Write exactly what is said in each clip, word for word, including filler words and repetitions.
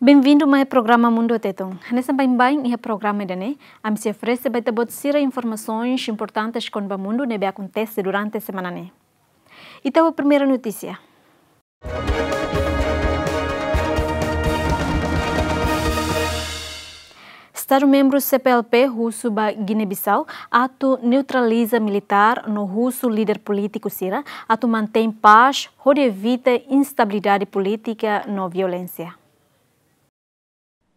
Bem-vindo mai programa Mundu Tetun. Hanesan baibain iha programa ida-ne'e, ami sei oferese ba ita-boot sira informasaun importante kona-ba mundu ne'ebé akontese durante semana ne'e. Ita ba primeira notísia. Estadu membru C P L P husu ba Guiné-Bissau atu neutraliza militár no husu líder polítiku sira atu mantein pás hodi evita instabilidade polítika no violénsia.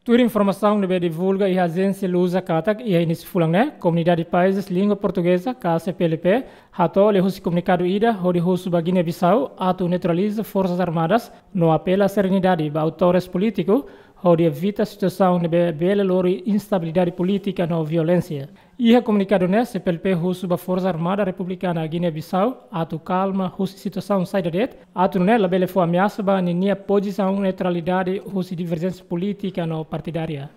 Tuir informasaun ne'ebé divulga iha ajénsia Lusa katak iha inísiu fulan ne'e, Komunidade Países Língua Portugeza, ka C P L P, hato'o liuhusi komunikadu ida hodi husu ba Guiné-Bissau atu neutraliza forsas armadas no apela serenidade ba autores polítiku hodi evita situasaun ne'ebé bele lori instabilidade polítika no violénsia. Iha komunikadu ne'e, C P L P husu ba Forsa Armada Republikana Guiné-Bissau atu kalma husi situasaun saida de'it, atu nune'e labele fó ameasa ba ninia pozisaun neutralidade husi diverjénsia polítika no partidária.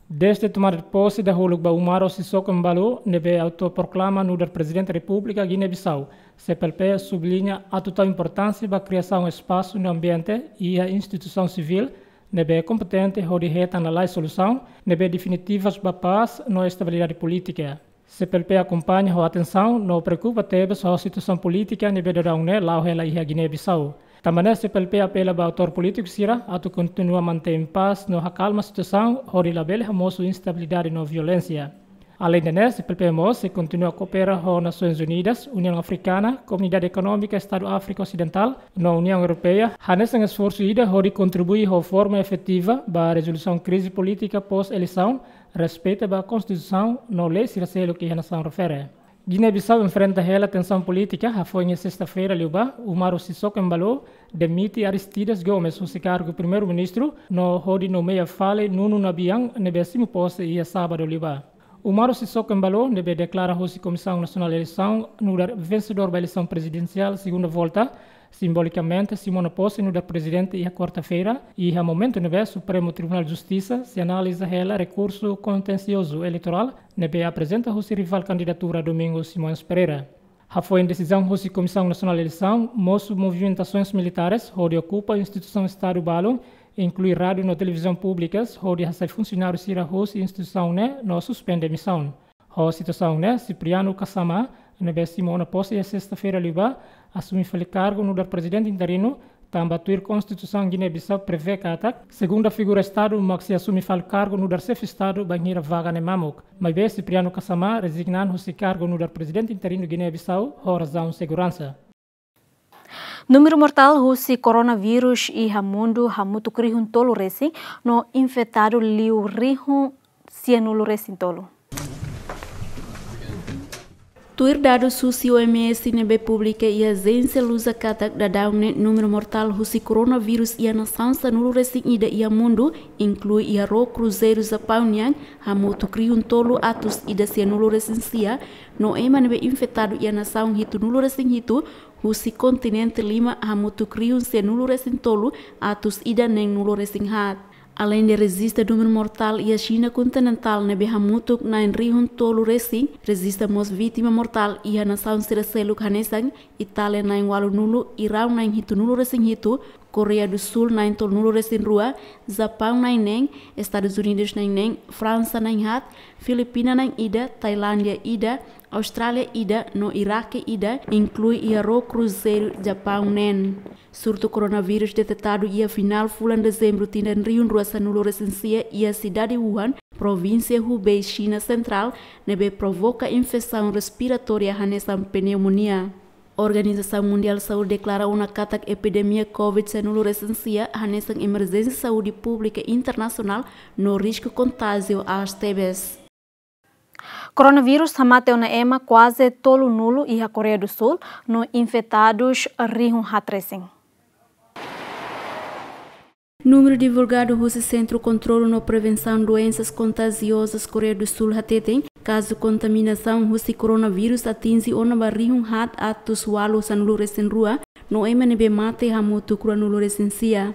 Dezde tomada de pose dahuluk ba Umaro Sissoco Embaló ne'ebé autoproklama nu'udar Prezidente Repúblika Guiné-Bissau, C P L P subliña atu tau importánsia ba kriasaun espasu no ambiente iha instituisaun sivíl ne'ebé kompetente hodi hetan lalais solusaun ne'ebé definitivas ba pás no estabilidade polítika. C P L P akompaña ho atensaun no preokupa tebes ho situasaun polítika ne'ebé daudaun ne'e la'o hela iha Guiné-Bissau. Tanba ne'e C P L P apela ba autór polítiku sira atu kontinua mantein pás no hakalma situasaun hodi labele hamosu instabilidade no violénsia. Aleinde ne'e, C P L P mós sei kontinua koopera ho Nasoins Unidas, Uniaun Afrikana, Komunidade Ekonómika Estadu Áfrika Osidentál no Uniaun Europeia hanesan esforsu ida hodi kontribui ho forma efetiva ba rezolusaun krize polítika pós-eleisaun, respeita ba Konstituisaun no lei sira seluk iha nasaun refere. Guiné-Bissau enfrenta hela tensaun polítika, hafoin iha sesta-feira liubá, Umaro Sissoco Embaló demite Aristides Gomes husi kargu Primeiru-Ministru no hodi nomeia fali Nuno Nabian ne'ebé simu pose iha sábadu liubá. Umaro Sissoco Embaló ne'ebé deklara husi Komisaun Nasionál Eleisaun nu'udar vensedór ba eleisaun prezidensiál segunda volta, simbolikamente simu ona pose nu'udar prezidente iha kuarta-feira, iha momentu ne'ebé Supremu Tribunál Justisa sei analiza hela rekursu kontensiozu eleitorál ne'ebé aprezenta husi rivál kandidatura Domingos Simões Pereira. Hafoin desizaun husi Komisaun Nasionál Eleisaun, mosu movimentasoens militares hodi okupa instituisaun Estadu balun, inklui rádiu no televizaun públikas, hodi hasai funsionáriu sira husi instituisaun ne'e no suspende misaun. Ho situasaun ne'e, Cipriano Kasama, ne'ebé simu ona pose iha sesta-feira liubá, asume fali kargu nu'udar prezidente interinu, tanba tuir Konstituisaun Guiné-Bissau prevee katak segunda figura Estadu mak sei asume fali kargu nu'udar xefe Estadu bainhira vaga ne'e mamuk. Maibé Cipriano Kasama rezigna an husi kargu nu'udar prezidente interinu Guiné-Bissau ho razaun seguransa. Númeru mortál husi koronavírus iha mundu hamutuk rihun tolu resin no infetadu liu rihun sianulu resin tolu. Tuir dadus husi O M S ne'ebé publika iha ajénsia Lusa katak daudaun ne'e númeru mortál husi koronavírus iha nasaun sanulu resin ida iha mundu, inklui iha ró kruzeiru Japaun nian, hamutuk rihun tolu atus ida sianulu resin sia, no ema ne'ebé infetadu iha nasaun hitunulu resin hitu, husi kontinente lima hamutuk rihun sianulu resin tolu atus ida neenulu resin haat. Aleinde rejista númeru mortál iha Xina kontinentál ne'ebé hamutuk na'in rihun tolu resin, rejista mós vítima mortál iha nasaun sira seluk hanesan Itália na'in ualunulu, Irán na'in hitunulu resin hitu, Koreia do Sul na'in tolunulu resin rua, Japaun na'in neen, Estadus Unidus na'in neen, Fransa na'in haat, Filipina na'in ida, Tailándia ida, Austrália ida, no Iraque ida, inklui iha ró kruzeiru Japaun neen. Surtu koronavírus detetadu iha finál fulan Dezembru tinan rihun rua sanulu resin sia iha sidade Wuhan, provínsia Hubei, Xina Sentrál, ne'ebé provoka infesaun respiratória hanesan pneumonia. Organizasaun Mundiál Saúde deklara ona katak epidemia COVID sanulu resin sia hanesan emerjénsia saúde públika internasionál no risku kontájiu aas tebes. Koronavírus hamate ona ema kuaze tolunulu iha Koreia do Sul no infetadus rihun haat resin. Númeru divulgadu husi Sentru Kontrolu no Prevensaun Doensas Kontajiozas Koreia do Sul hateten, kazu kontaminasaun husi koronavírus atinje ona ba rihun haat atus ualu sanulu resin rua, no ema ne'ebé mate hamutuk ruanulu resin sia.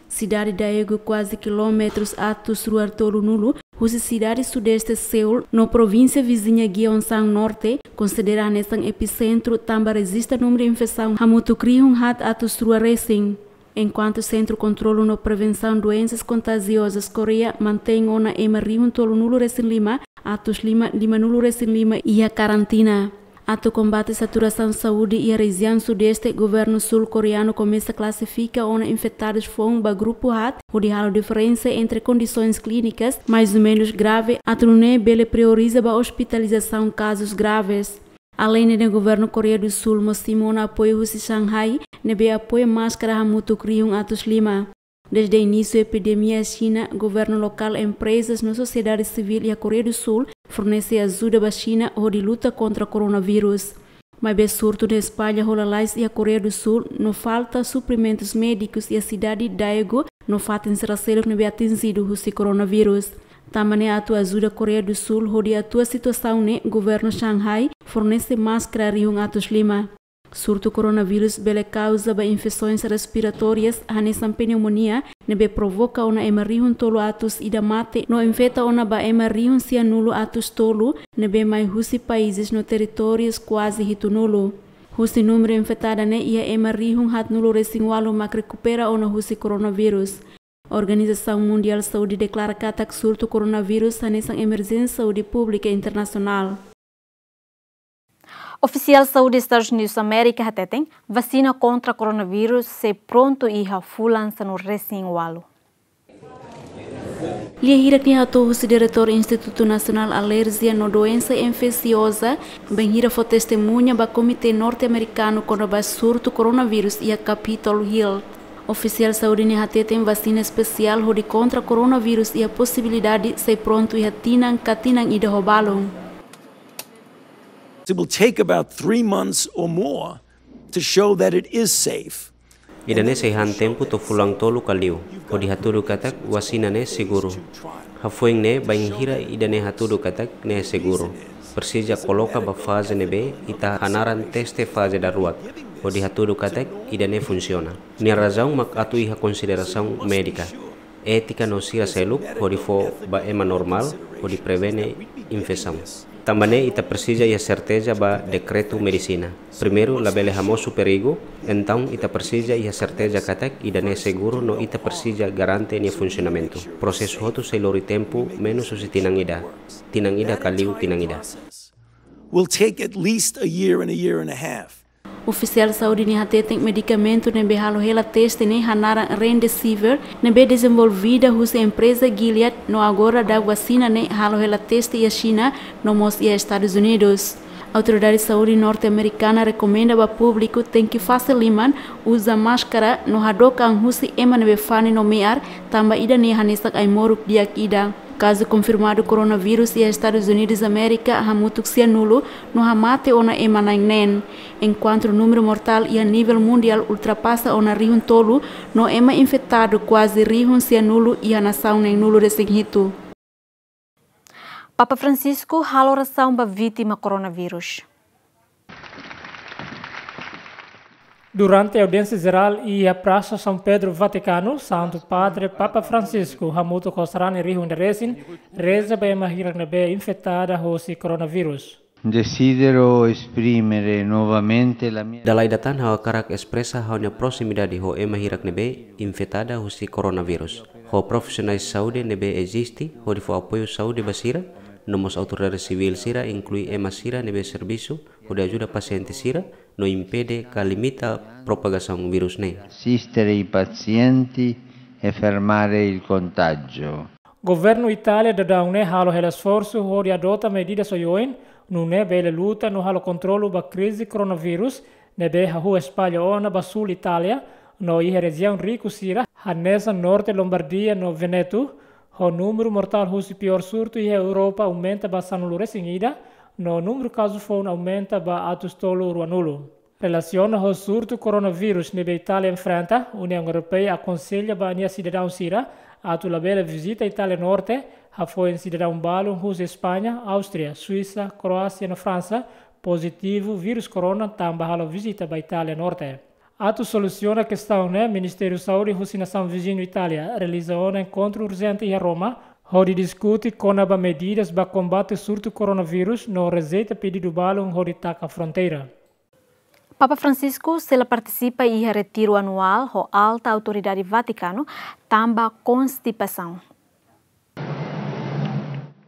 Sidade Daegu kuaze kilómetrus atus rua tolunulu husi sidade sudeste Seul, no provínsia viziña Gyeongsang Norte, konsidera hanesan episentru tanba rejista númeru infesaun hamutuk rihun haat atus rua resin. Enkuantu Sentru Kontrolu no Prevensaun Doensas Kontajiozas Koreia mantein ona ema rihun tolunulu resin lima, atus lima, limanulu resin lima iha karantina. Atu kombate saturasaun saúde iha rejiaun Sudeste, governu Sul Koreanu komesa klasifika ona infetadus foun ba grupu haat, hodi halo diferensa entre kondisoens klínikas, mais ou menus grave, atu nune'e bele prioriza ba ospitalizasaun kazus graves. Aleinde ne'e, governu Koreia do Sul mós simu ona apoiu husi Shanghai, ne'ebé apoia máskara hamutuk rihun atus lima. Dezde inísiu epidemia iha Xina, governu lokál, emprezas no sosiedade sivíl iha Koreia do Sul fornese ajuda ba Xina hodi luta kontra koronavírus. Maibé surtu ne'e espalla ho lalais iha Koreia do Sul, no falta suprimentus médikus iha sidade Daegu no fatin sira seluk ne'ebé atinjidu husi koronavírus. Tanba ne'e, atu ajuda Koreia do Sul hodi atua situasaun ne'e, governu Shanghai fornese máskara rihun atus lima. Surtu koronavírus bele kauza ba infesoens respiratórias hanesan pneumonia, ne'ebé provoka ona ema rihun tolu atus ida mate, no infeta ona ba ema rihun sianulu atus tolu, ne'ebé mai husi países no territórius kuaze hitunulu. Husi númeru infetada ne'e iha ema rihun haatnulu resin ualu mak rekupera ona husi koronavírus. Organizasaun Mundiál Saúde deklara katak surtu koronavírus hanesan emerjénsia saúde públika internasionál. Ofisiál saúde Estadus Unidus Amérika hateten, vasina kontra koronavírus sei prontu iha fulan sanulu resin ualu. Lia hirak ne'e hato'o husi Diretór Institutu Nasionál Alerjia no Doensa Infesioza, bainhira fó testemuña ba Komité Norte-Amerikanu kona-ba surtu koronavírus iha Capitol Hill. Ofisiál saúde ne'e hateten, vasina espesiál hodi kontra koronavírus iha posibilidade sei prontu iha tinan ka tinan ida ho balun. It will take about three months or more to show that it is safe. Ida-ne'e sei han tempu to'o fulan tolu ka liu, hodi hatudu katak vasina ne'e seguru. Hafoin ne'e, bainhira ida-ne'e hatudu katak ne'e seguru, presiza koloka ba faze ne'ebé ita hanaran teste faze daruak, hodi hatudu katak ida-ne'e funsiona. Nia razaun mak atu iha konsiderasaun médika, étika no sira seluk, hodi fó ba ema normál, hodi prevene infesaun. Tanba ne'e ita presiza iha serteza ba dekretu medisina. Primeiru, labele hamosu perigu, entaun ita presiza iha serteza katak ida-ne'e seguru no ita presiza garante nia funsionamentu. Prosesu hotu sei lori tempu menus husi tinan ida, tinan ida ka liu tinan ida. Will take at least a year and a year and a half. Ofisiál saúde ne'e hateten, medikamentu ne'ebé halo hela teste ne'e hanaran Remdesivir, ne'ebé dezenvolvida husi empreza Gilead, no agora daudaun vasina ne'e halo hela teste iha Xina, no mós iha Estadus Unidus. Autoridade Saúde norte-amerikana rekomenda ba públiku tenke fase liman, uza máskara, no hadook an husi ema ne'ebé fani no me'ar, tanba ida-ne'e hanesan ai-moruk di'ak ida. Kazu konfirmadu koronavírus iha Estadus Unidus Amérika hamutuk sianulu, no hamate ona ema na'in neen. Enkuantu númeru mortál iha nivel mundiál ultrapasa ona rihun tolu, no ema infetadu kuaze rihun sianulu iha nasaun neen-nulu resin hitu. Papa Francisco halo orasaun ba vítima koronavírus. Durante audiénsia jerál iha Prasa São Pedro, Vatikanu, Santu Padre Papa Francisco hamutuk ho sarani rihun ida resin reza ba ema hirak ne'ebé infetada hosi koronavírus. Desidero esprimere novamente la mia. Dala ida tan ha'u hakarak espresa ha'u-nia proximidade ho ema hirak ne'ebé infetada hosi koronavírus, ho profisionais saúde ne'ebé eziste hodi fó apoiu saúde ba sira, no mós autoridade sivíl sira, inklui ema sira ne'ebé servisu hodi ajuda pasiente sira, no impede ka limita propagasaun vírus ne'e. Assistere i pazienti e fermare il contagio. Governu Itália daudaun ne'e halo hela esforsu hodi adota medidas oioin, nune'e bele luta no halo kontrolu ba krize koronavírus, ne'ebé hahú espalla ona ba súl Itália, no iha rejiaun riku sira, hanesan norte Lombardia no Venetu, ho númeru mortál husi piór surtu iha Europa aumenta ba sanulu resin ida, no númeru kazu foun aumenta ba atus tolu ruanulu. Relasiona ho surtu koronavírus ne'ebé Itália enfrenta, Uniaun Europeia akonsella ba nia sidadaun sira atu labele vizita Itália norte, hafoin sidadaun balun husi España, Áustria, Suisa, Kroásia no Fransa pozitivu vírus korona tanba halo vizita ba Itália norte. Atu solusiona kestaun ne'e, Ministériu Saúde husi nasaun viziñu Itália realiza ona enkontru urjente iha Roma, hodi diskute kona-ba medidas ba kombate surtu koronavírus no rejeita pedidu balun hodi taka fronteira. Papa Francisco sei la partisipa iha retiru anuál ho alta autoridade Vatikanu tanba konstipasaun.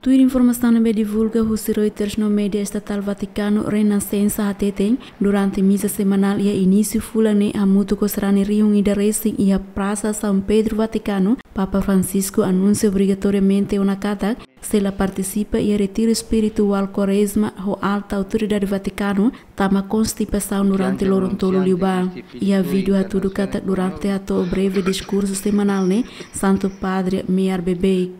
Tuir informasaun ne'ebé divulga husi Reuters no média estatál Vatikanu, Renascença hateten, durante misa semanál iha inísiu fulan ne'e hamutuk ho sarani rihun ida resin iha Prasa São Pedro Vatikanu, Papa Francisco anunsia obrigatoriamente ona katak sei la partisipa iha retiru espirituál Kuarezma ho alta autoridade Vatikanu tanba konstipasaun durante loron tolu liubá. Iha vídeo hatudu katak durante hato'o breve diskursu semanál ne'e, Santu Padre me'ar beibeik.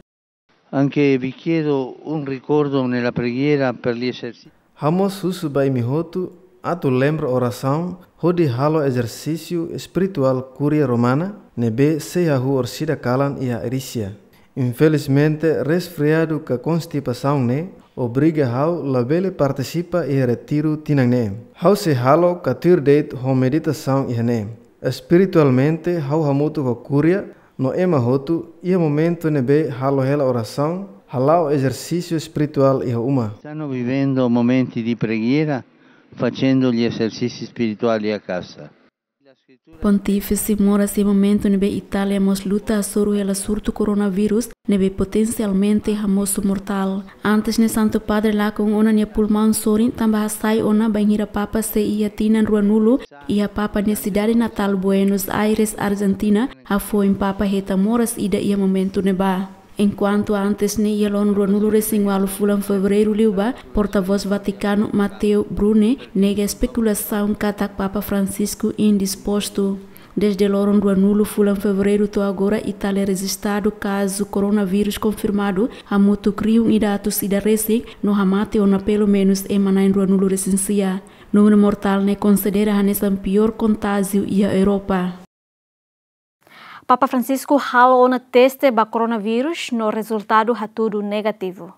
Anke vi chiedo un ricordo nella preghiera per gli esercizi. Ha'u mós husu ba imi hotu atu lembra orasaun hodi halo ezersísiu espirituál Kúria Romana ne'ebé sei hahú orsida kalan iha Arísia. Infelizmente, resfriadu ka konstipasaun ne'e obriga ha'u labele partisipa iha retiru tinan ne'e. Ha'u sei halo ka tuir de'it ho meditasaun iha ne'e. Espiritualmente, ha'u hamutuk ho Kúria no ema hotu iha momentu ne'ebé halo hela orasaun, hala'o ezersísiu espirituál iha uma. Stanno vivendo momenti di preghiera facendo gli esercizi spirituali a casa. Pontífise moras iha momentu ne'ebé Itália mós luta hasoru hela surtu koronavírus ne'ebé potensialmente hamosu mortál. Antes ne'e Santu Padre lakon ona nia pulmaun sorin tanba hasai ona bainhira Papa sei iha tinan ruanulu iha Papa nia sidade natál Buenos Aires, Argentina, hafoin Papa hetan moras ida iha momentu ne'ebá. Enkuantu antes ne'e iha loron ruanulu resin ualu fulan Fevereiru liubá, portavós Vatikanu Matteo Bruni nega espekulasaun katak Papa Francisco indispostu. Desde loron ruanulu fulan Fevereiru to'o agora, Itália rejistadu kazu koronavírus konfirmadu hamutuk rihun ida atus ida resin no hamate ona pelumenus ema na'in ruanulu resin sia. Númeru mortál ne'e konsidera hanesan piór kontájiu iha Europa. Papa Francisco halo ona teste ba koronavírus no rezultadu hatudu negativu.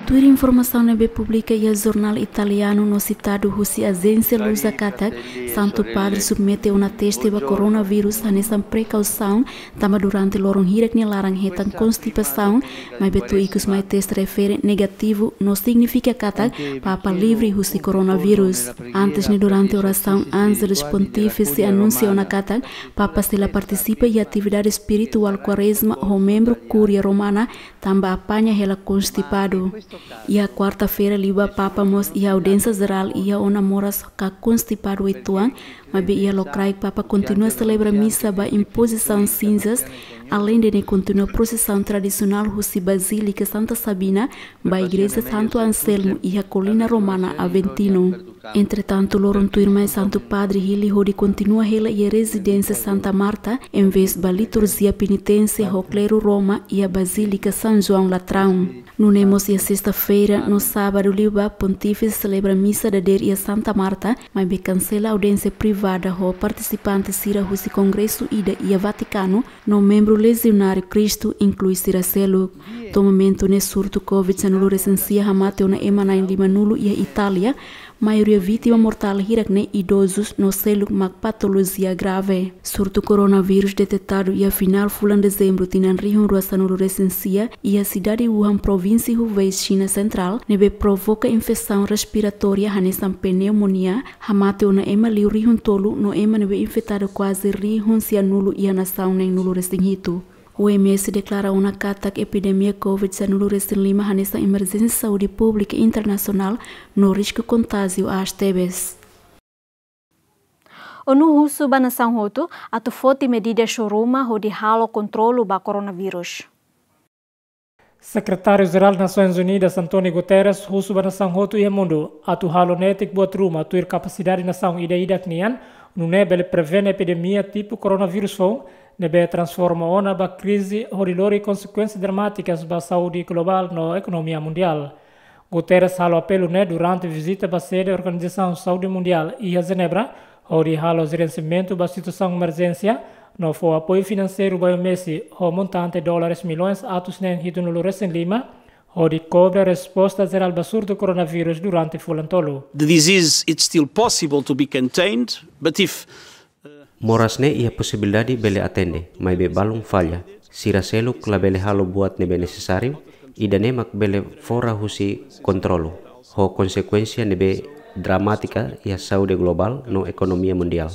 Tuir informasaun ne'ebé publika iha jornál italianu no sitadu husi ajénsia Lusa katak, Santu Padre submete ona teste ba koronavírus hanesan prekausaun, tanba durante loron hirak nia laran hetan konstipasaun, maibé to'o ikus mai teste refere negativu no signifika katak Papa livre husi koronavírus. Antes ne'e durante orasaun Angelus Pontífice anunsia ona katak Papa sei la partisipa iha atividade espirituál Kuarezma ho membru Kúria Romana tanba apaña hela konstipadu. Iha kuarta-feira liubá Papa mós iha audiénsia jerál iha ona moras ka konstipadu uitoan, maibé iha lokraik Papa kontinua selebra misa ba impozisaun sinzas, aleinde ne'e kontinua prosesaun tradisionál husi Bazílika Santa Sabina ba Igreja Santu Anselmo iha Kolina Romana Aventino. Entretantu, loron tuirmai Santu Padre hili hodi kontinua hela iha rezidénsia Santa Marta, envezbá liturjia peniténsia ho kleru Roma iha Bazílika São João Latrão. Nune'e mós iha sesta-feira no sábadu liubá Pontífise selebra misa dadeer iha Santa Marta, maibé kansela audiénsia privada ho partisipante sira husi kongresu ida iha Vatikanu, no membru Lezionáriu Kristu, inklui sira seluk. To'o momentu ne'e surtu Covid sanulu resin sia hamate ona ema na'in limanulu iha Itália, maioria vítima mortál hirak ne'e idozus no seluk mak patolojia grave. Surtu koronavírus detetadu iha finál fulan Dezembru tinan rihun rua sanulu resin sia iha sidade Wuhan, provínsia Hubei, Xina sentrál, ne'ebé provoka infesaun respiratória hanesan pneumonia, hamate ona ema liu rihun tolu no ema ne'ebé infetadu kuaze rihun sianulu iha nasaun neenulu resin hitu. O M S deklara ona katak epidemia Covid sanulu resin lima hanesan emerjénsia saúde públika internasionál no risku kontájiu aas tebes. ONU husu ba nasaun hotu atu foti medida suru-uma hodi halo kontrolu ba koronavírus. Sekretáriu Jerál Nasoins Unidas, António Guterres, husu ba nasaun hotu iha mundu atu halo netik buat ruma tuir kapasidade nasaun ida-idak nian, nune'e bele prevene epidemia tipu koronavírus foun, ne'ebé transforma ona ba krize hodi lori konsekuénsias dramátikas ba saúde globál no ekonomia mundiál. Guterres halo apelu ne'e durante vizita ba sede Organizasaun Saúde Mundiál iha Jenebra, hodi halo jerensiamentu ba situasaun emerjénsia, no fó apoiu finanseiru ba O M S ho montante dólares milhões atus neen hitunulu resin lima, hodi kobre resposta jerál ba surtu koronavírus durante fulan tolu. The disease, it's still possible to be contained, but if Moras ne'e iha posibilidade bele atende, maibé balun falla. Sira seluk labele halo buat ne'ebé nesesáriu, Ida-ne'e mak bele fora husi kontrolu, ho konsekuénsia ne'ebé dramátika iha saúde globál no ekonomia mundiál.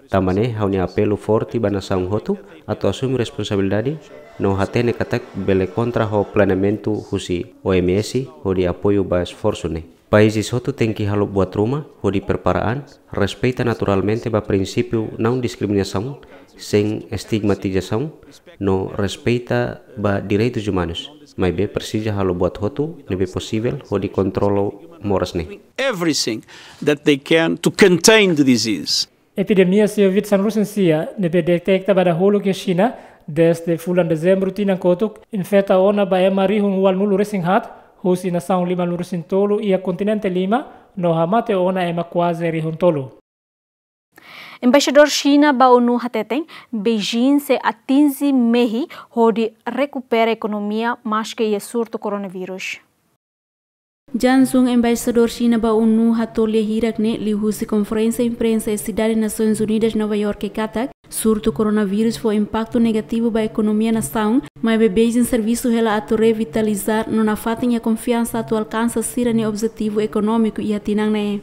Tanba ne'e ha'u-nia apelu forte ba nasaun hotu atu asume responsabilidade no hatene katak bele konta ho planeamentu husi O M S hodi apoiu ba esforsu ne'e. Países hotu tenke halo buat ruma hodi prepara an, respeita naturalmente ba prinsípiu não diskriminasaun, sein estigmatizasaun, no respeita ba direitus umanus. Maibé presiza halo buat hotu ne'ebé posivel hodi kontrola moras ne'e. Everything that they can to contain the disease. Epidemia COVID sanulu-resin-sia ne'ebé deteta ba dahuluk iha Xina, dezde fulan Dezembru tinan kotuk, infeta ona ba ema rihun ualunulu-resin-haat, husi nasaun limanulu-resin-tolu iha kontinente lima, no hamate ona ema kuaze rihun tolu. Embaixadór Xina ba ONU hateten, Beijing sei atinje mehi hodi rekupera ekonomia maske iha surtu koronavírus. Jang Zhung, embaixadór Xina ba ONU, hato'o lia hirak-ne'e liuhusi konferénsia imprensa iha sidade Nasoins Unidas, Nova Iorke katak, surtu koronavírus fó impaktu negativu ba ekonomia nasaun, maibé Beijing servisu hela atu revitaliza no nafatin iha konfiansa atu alkansa sira-nia objetivu ekonómiku iha tinan ne'e.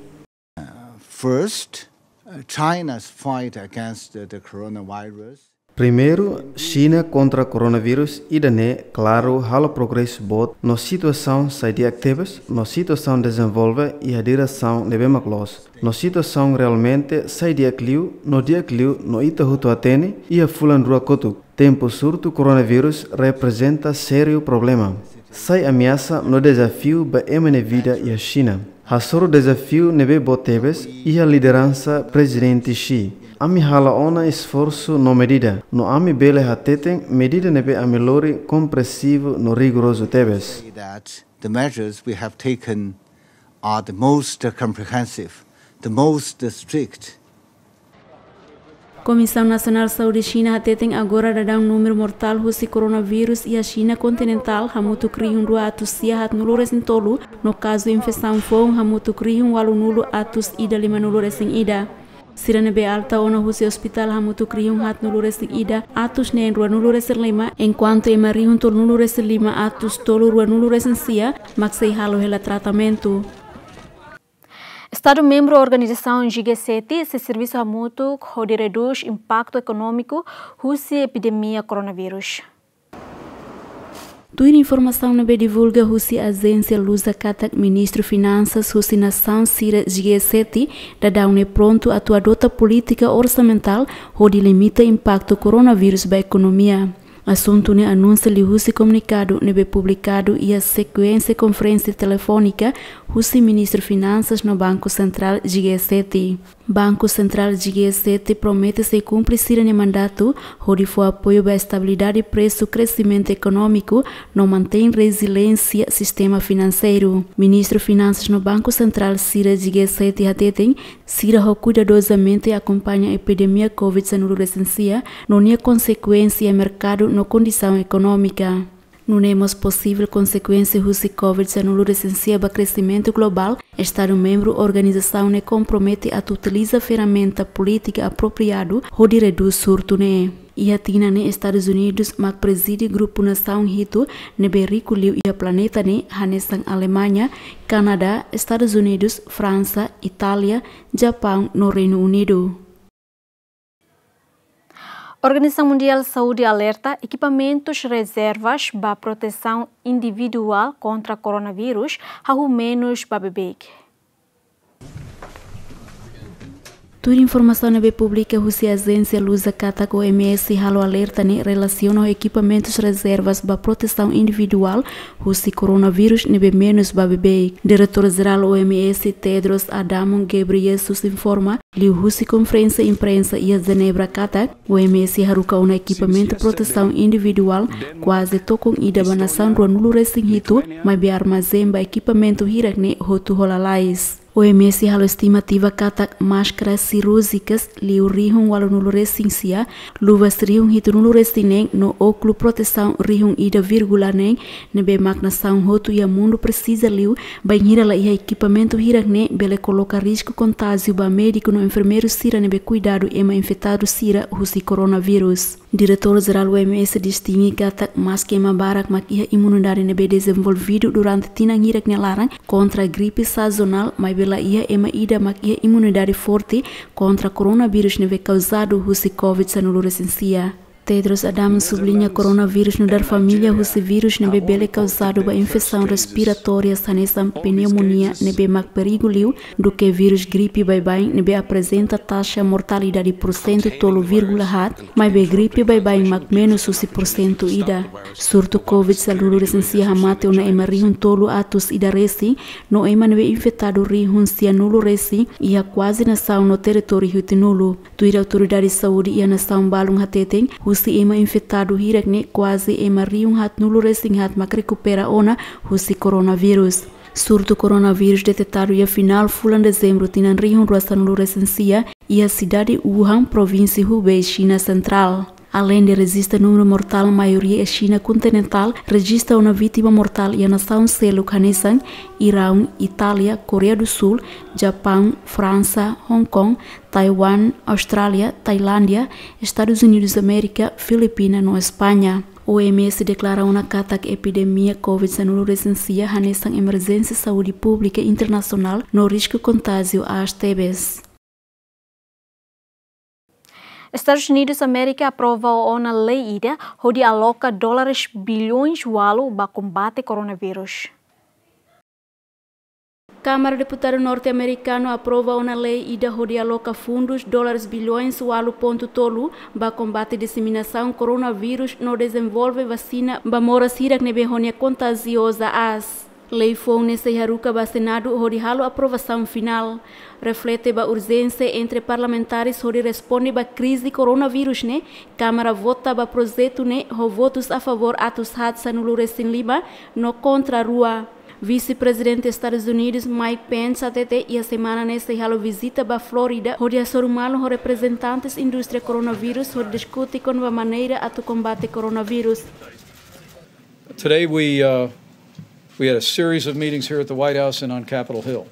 First, uh, China's fight against the, the coronavirus. Primeiru, Xina kontra koronavírus ida-ne'e klaru halo progresu boot no situasaun sai di'ak tebes, no situasaun dezenvolve iha diresaun ne'ebé mak loos, no situasaun realmente sai di'ak liu, no di'ak liu no ita hotu hatene iha fulan rua kotuk, tempu surtu koronavírus reprezenta sériu problema. Sai ameasa no dezafiu ba ema nia vida iha Xina. Hasoru dezafiu ne'ebé boot tebes iha lideransa Prezidente Xi. Ami hala'o ona esforsu no medida, no ami bele hateten medida ne'ebé ami lori komprensivu no rigorozu tebes. Say that the measures we have taken are the most comprehensive, the most strict. Komisaun Nasionál Saúde Xina hateten agora daudaun númeru mortál husi koronavírus iha Xina kontinentál hamutuk rihun rua atus sia haatnulu-resin-tolu, no kazu infesaun foun hamutuk rihun ualunulu atus ida limanulu-resin-ida. Sira ne'ebé alta ona husi ospitál hamutuk rihun haatnulu-resin-ida atus neen ruanulu-resin-lima, enkuantu ema rihun tolunulu-resin-lima atus tolu ruanulu-resin-sia mak sei halo hela tratamentu. Estadu membru organizasaun G sete sei servisu hamutuk hodi redús impaktu ekonómiku husi epidemia koronavírus. Tuir informasaun ne'ebé divulga husi ajénsia Lusa katak Ministru Finansas husi nasaun sira G sete daudaun ne'e prontu atu adota polítika orsamentál hodi limita impaktu koronavírus ba ekonomia. Asuntu ne'e anunsia liuhusi komunikadu ne'ebé publikadu iha sekuénsia konferénsia telefónika husi Ministru Finansas no Banku Sentrál G sete. Banku Sentrál G sete promete sei kumpre sira-nia mandatu hodi fó apoiu ba estabilidade presu, kresimentu ekonómiku no mantein reziliénsia sistema finanseiru. Ministru Finansas no Banku Sentrál sira G sete hateten, sira ho kuidadozamente akompaña epidemia COVID sanulu-resin-sia no nia konsekuénsia iha merkadu no kondisaun ekonómika. Nune'e mós posivel konsekuénsia husi COVID sanulu-resin-sia ba kresimentu globál, estadu membru organizasaun ne'e kompromete atu utiliza ferramenta polítika apropriadu hodi redús surtu ne'e. Iha tinan ne'e Estadus Unidus mak prezide grupu nasaun hitu ne'ebé riku liu iha planeta ne'e, hanesan Alemaña, Kanadá, Estadus Unidus, Fransa, Itália, Japaun no Reinu Unidu. Organizasaun Mundiál Saúde alerta, ekipamentus rezervas ba protesaun individuál kontra koronavírus hahú menus ba beibeik. Tuir informasaun ne'ebé publika husi ajénsia Lusa katak, O M S halo alerta ne'e relasiona ho ekipamentus rezervas ba protesaun individuál husi koronavírus ne'ebé menus ba beibeik. Diretór Jerál O M S, Tedros Adhanom Ghebreyesus, informa liuhusi konferénsia imprensa iha Jenebra katak, O M S haruka ona ekipamentu protesaun individuál kuaze tokon ida ba nasaun ruanulu-resin-hitu, maibé armazén ba ekipamentu hirak-ne'e hotu ho lalais. O M S halo estimativa katak máskara sirúrjikas liu rihun ualunulu resin sia, luvas rihun hitunulu resin neen no ókulu protesaun rihun ida vírgula neen ne'ebé mak nasaun hotu iha mundu presiza liu, bainhira la iha ekipamentu hirak ne'e bele koloka risku kontájiu ba médiku no enfermeiru sira ne'ebé kuidadu ema infetadu sira husi koronavírus. Diretór Jerál O M S distinge katak maski ema barak mak iha imunidade ne'ebé dezenvolvidu durante tinan hirak nia laran kontra gripe sazonál, maibé la iha ema ida mak iha imunidade forte kontra koronavírus ne'ebé kauzadu husi covid sanulu resin sia. Tedros Adhanom subliña koronavírus nu'udar família husi vírus ne'ebé bele kauzadu ba infesaun respiratória hanesan pneumonia ne'ebé mak perigu liu duké vírus gripe baibain ne'ebé aprezenta taxa mortalidade pursentu tolu vírgula haat, maibé gripe baibain mak menus husi pursentu ida. Surtu covid sanulu resin sia hamate ona ema rihun tolu atus ida resin, no ema ne'ebé infetadu rihun sianulu resin iha kuaze nasaun no territóriu hitunulu. Tuir autoridade saúde iha nasaun balun hateten, husi ema infetadu hirak ne'e kuaze ema rihun haatnulu resin haat mak rekupera ona husi koronavírus. Surtu koronavírus detetadu iha finál fulan Dezembru tinan rihun rua sanulu resin sia, iha sidade Wuhan, provínsia Hubei, Xina Sentrál. Aleinde rejista númeru mortál maioria iha Xina kontinentál, rejista ona vítima mortál iha nasaun seluk hanesan Iraun, Itália, Koreia do Sul, Japaun, Fransa, Hong Kong, Taiwan, Austrália, Tailándia, Estadus Unidus Amérika, Filipina no España. O M S deklara ona katak epidemia covid sanulu resin sia hanesan emerjénsia saúde públika internasionál no risku kontájiu aas tebes. Estadus Unidus Amérika aprova ona lei ida hodi aloka dólares bilhões ualu ba kombate koronavírus. Kámara Deputadu norte-amerikanu aprova ona lei ida hodi aloka fundus dólares bilhões ualu pontu tolu ba kombate diseminasaun koronavírus no dezenvolve vasina ba moras hirak ne'ebé ho nia kontajioza aas. Lei foun ne'e sei haruka ba Senadu hodi halo aprovasaun finál. Reflete ba urjénsia entre parlamentares hodi responde ba krize koronavírus ne'e, Kámara vota ba projetu ne'e ho votus a favór atus haat sanulu resin lima no kontra rua. Vise-Prezidente Estadus Unidus Mike Pence hatete iha semana ne'e sei halo vizita ba Flórida hodi hasoru malu ho reprezentantes indústria koronavírus hodi diskute kona-ba maneira atu kombate koronavírus. Today we, uh, we had a series of meetings here at the White House and on Capitol Hill.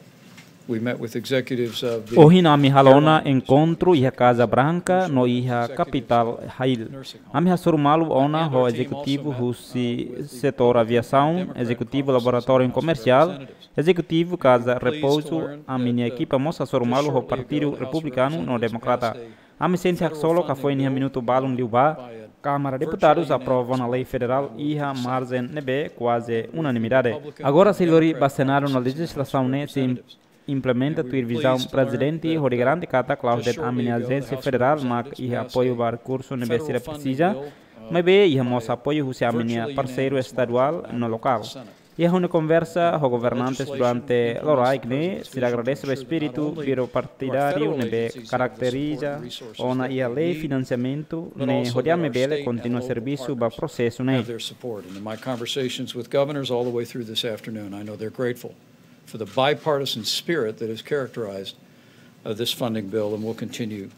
We met with executives of the Ohin ami halo ona airline enkontru iha Kaza Branka no iha Kapitál Hill. Ami hasoru malu ona ho ezekutivu husi setór aviasaun, ezekutivu laboratóriu komersiál, ezekutivu Kaza Repouzu, ami-nia ekipa mós hasoru malu ho Partidu Republikanu no Demokrata. Ami sente haksolok katak foin iha minutu balun liubá, Kámara Deputadus aprova ona lei federál iha marjen ne'ebé kuaze unanimidade. Agora sei lori ba Senadu ona lejizlasaun ne'e sei implementa tuir vizaun Prezidente hodi garante katak klaus de'it ami-nia ajénsia federál mak iha apoiu ba rekursu ne'ebé sira presiza, maibé iha mós apoiu husi ami-nia parseiru estaduál no lokál. Iha ha'u-nia konversa ho governantes durante loraik ne'e, sira agradese ba espíritu bipartidáriu ne'ebé karakteriza ona iha lei finansiamentu ne'e hodi ami bele kontinua servisu ba prosesu ne'e. Have their support. And in my conversations with governors all the way through this afternoon, I know they're grateful for the bipartisan spirit that has characterized, uh, this funding bill and will continue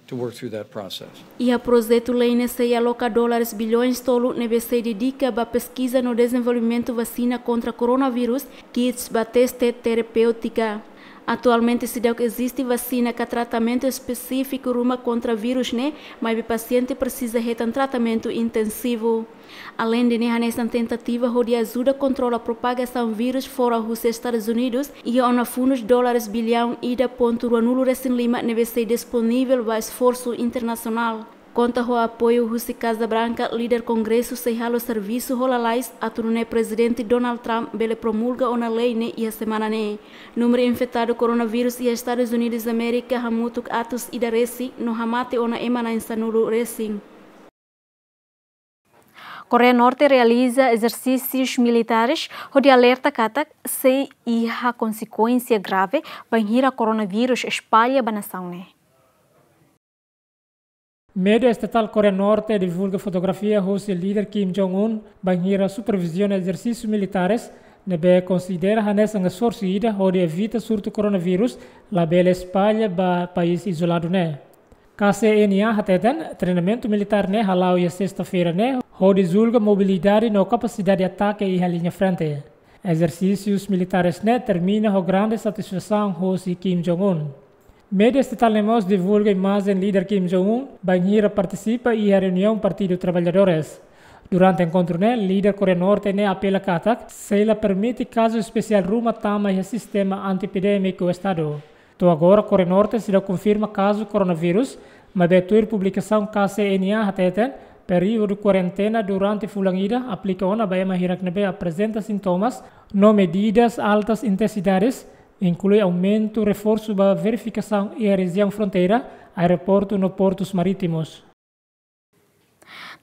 to work through that process. Iha projetu lei ne'e sei aloka dólares bilhões tolu ne'ebé sei dedika ba peskiza no dezenvolvimentu vasina kontra koronavírus, kits ba teste terapêutika. Atualmente seidauk eziste vasina ka tratamentu espesífiku ruma kontra vírus ne'e, maibé pasiente presiza hetan tratamentu intensivu. Aleinde ne'e, hanesan tentativa hodi ajuda kontrola propagasaun vírus fora husi Estadus Unidus, iha ona fundus dólares bilhões ida pontu ruanulu resin lima ne'ebé sei disponivel ba esforsu internasionál. Konta ho apoiu husi Kaza Branka, líder Kongresu sei halo servisu ho lalais atu nune'e Prezidente Donald Trump bele promulga ona lei ne'e iha semana ne'e. Númeru infetadu koronavírus iha Estadus Unidus Amérika hamutuk atus ida resin no hamate ona ema na'in sanulu resin. Koreia Norte realiza ezersísius militares hodi alerta katak sei iha konsekuénsia grave bainhira koronavírus espalla ba nasaun ne'e. Média estatál Koreia Norte divulga fotografia hosi líder Kim Jong-un bainhira superviziona ezersísius militares ne'ebé konsidera hanesan esforsu ida hodi evita surtu koronavírus labele espalla ba país izoladu ne'e. K C N A hateten, treinamentu militár ne'e hala'o iha sesta-feira ne'e, hodi julga mobilidade no kapasidade atake iha liña frente. Ezersísius militares ne'e termina ho grande satisfasaun hosi Kim Jong-un. Média estatal ne'e mós divulga imajen líder Kim Jong-un bainhira partisipa iha reuniaun Partidu Traballadores. Durante enkontru ne'e, líder Koreia Norte ne'e apela katak sei la permite kazu espesiál ruma tama iha sistema anti-epidémiku estadu. To'o agora, Koreia Norte seidauk konfirma kazu koronavírus, maibé tuir publikasaun K C N A hateten, períodu kuarentena durante fulan ida aplika ona ba ema hirak ne'ebé aprezenta sintomas no medidas altas intensidades, inklui aumentu reforsu ba verifikasaun iha rejiaun fronteira, aeroportu no portus marítimus.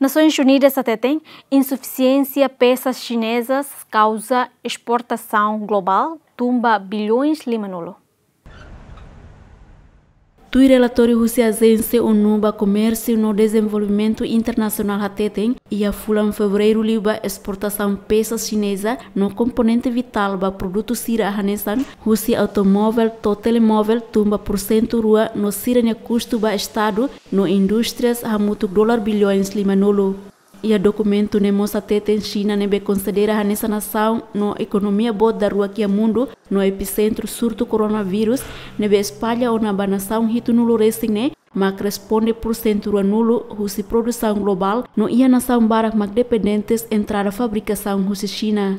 Nasoins Unidas hateten, insufisiénsia pesas xinezas kauza esportasaun globál tun ba bilhões lima-nulu. Tuir relatóriu husi Ajénsia ONU ba Komérsiu no Dezenvolvimentu Internasionál hateten, iha fulan Fevereiru liubá esportasaun pesas xineza no komponente vitál ba produtu sira hanesan husi automóvel to'o telemóvel tun ba pursentu rua no sira-nia kustu ba Estadu no indústrias hamutuk dolar bilhões lima-nulu. Iha dokumentu ne'e mós hateten Xina ne'ebé konsidera hanesan nasaun no ekonomia boot daruak iha mundu no episentru surtu koronavírus ne'ebé espalla ona ba nasaun hitunulu resin ne'e mak responde pursentu ruanulu husi produsaun globál no iha nasaun barak mak dependentes entrada fabrikasaun husi Xina.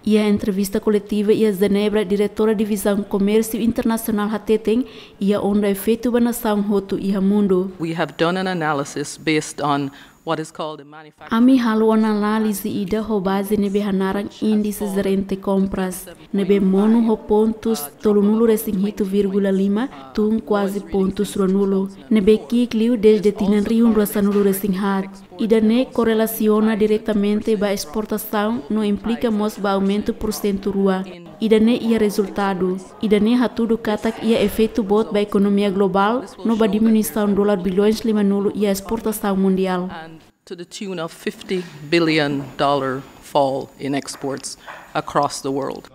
Iha entrevista koletiva iha Jenebra, diretora Divizaun Komérsiu Internasionál hateten, iha onda efeitu ba nasaun hotu iha mundu. We have done an analysis based on what is called a manufacturing. Ami halo análize ida ho baze ne'ebé hanaran Índise Jerente Kompras, ne'ebé monu ho pontus tolunulu resin hitu vírgula lima tun kuaze pontus ruanulu, ne'ebé ki'ik liu dezde tinan rihun rua sanulu resin haat. Ida-ne'e korrelasiona diretamente ba esportasaun no implika mós ba aumentu pursentu rua. Ida-ne'e iha rezultadu. Ida-ne'e hatudu katak iha efeitu boot ba ekonomia globál no ba diminuisaun dolar bilhões lima-nulu iha esportasaun mundiál. To the tune of fifty billion dollar fall in exports across the world.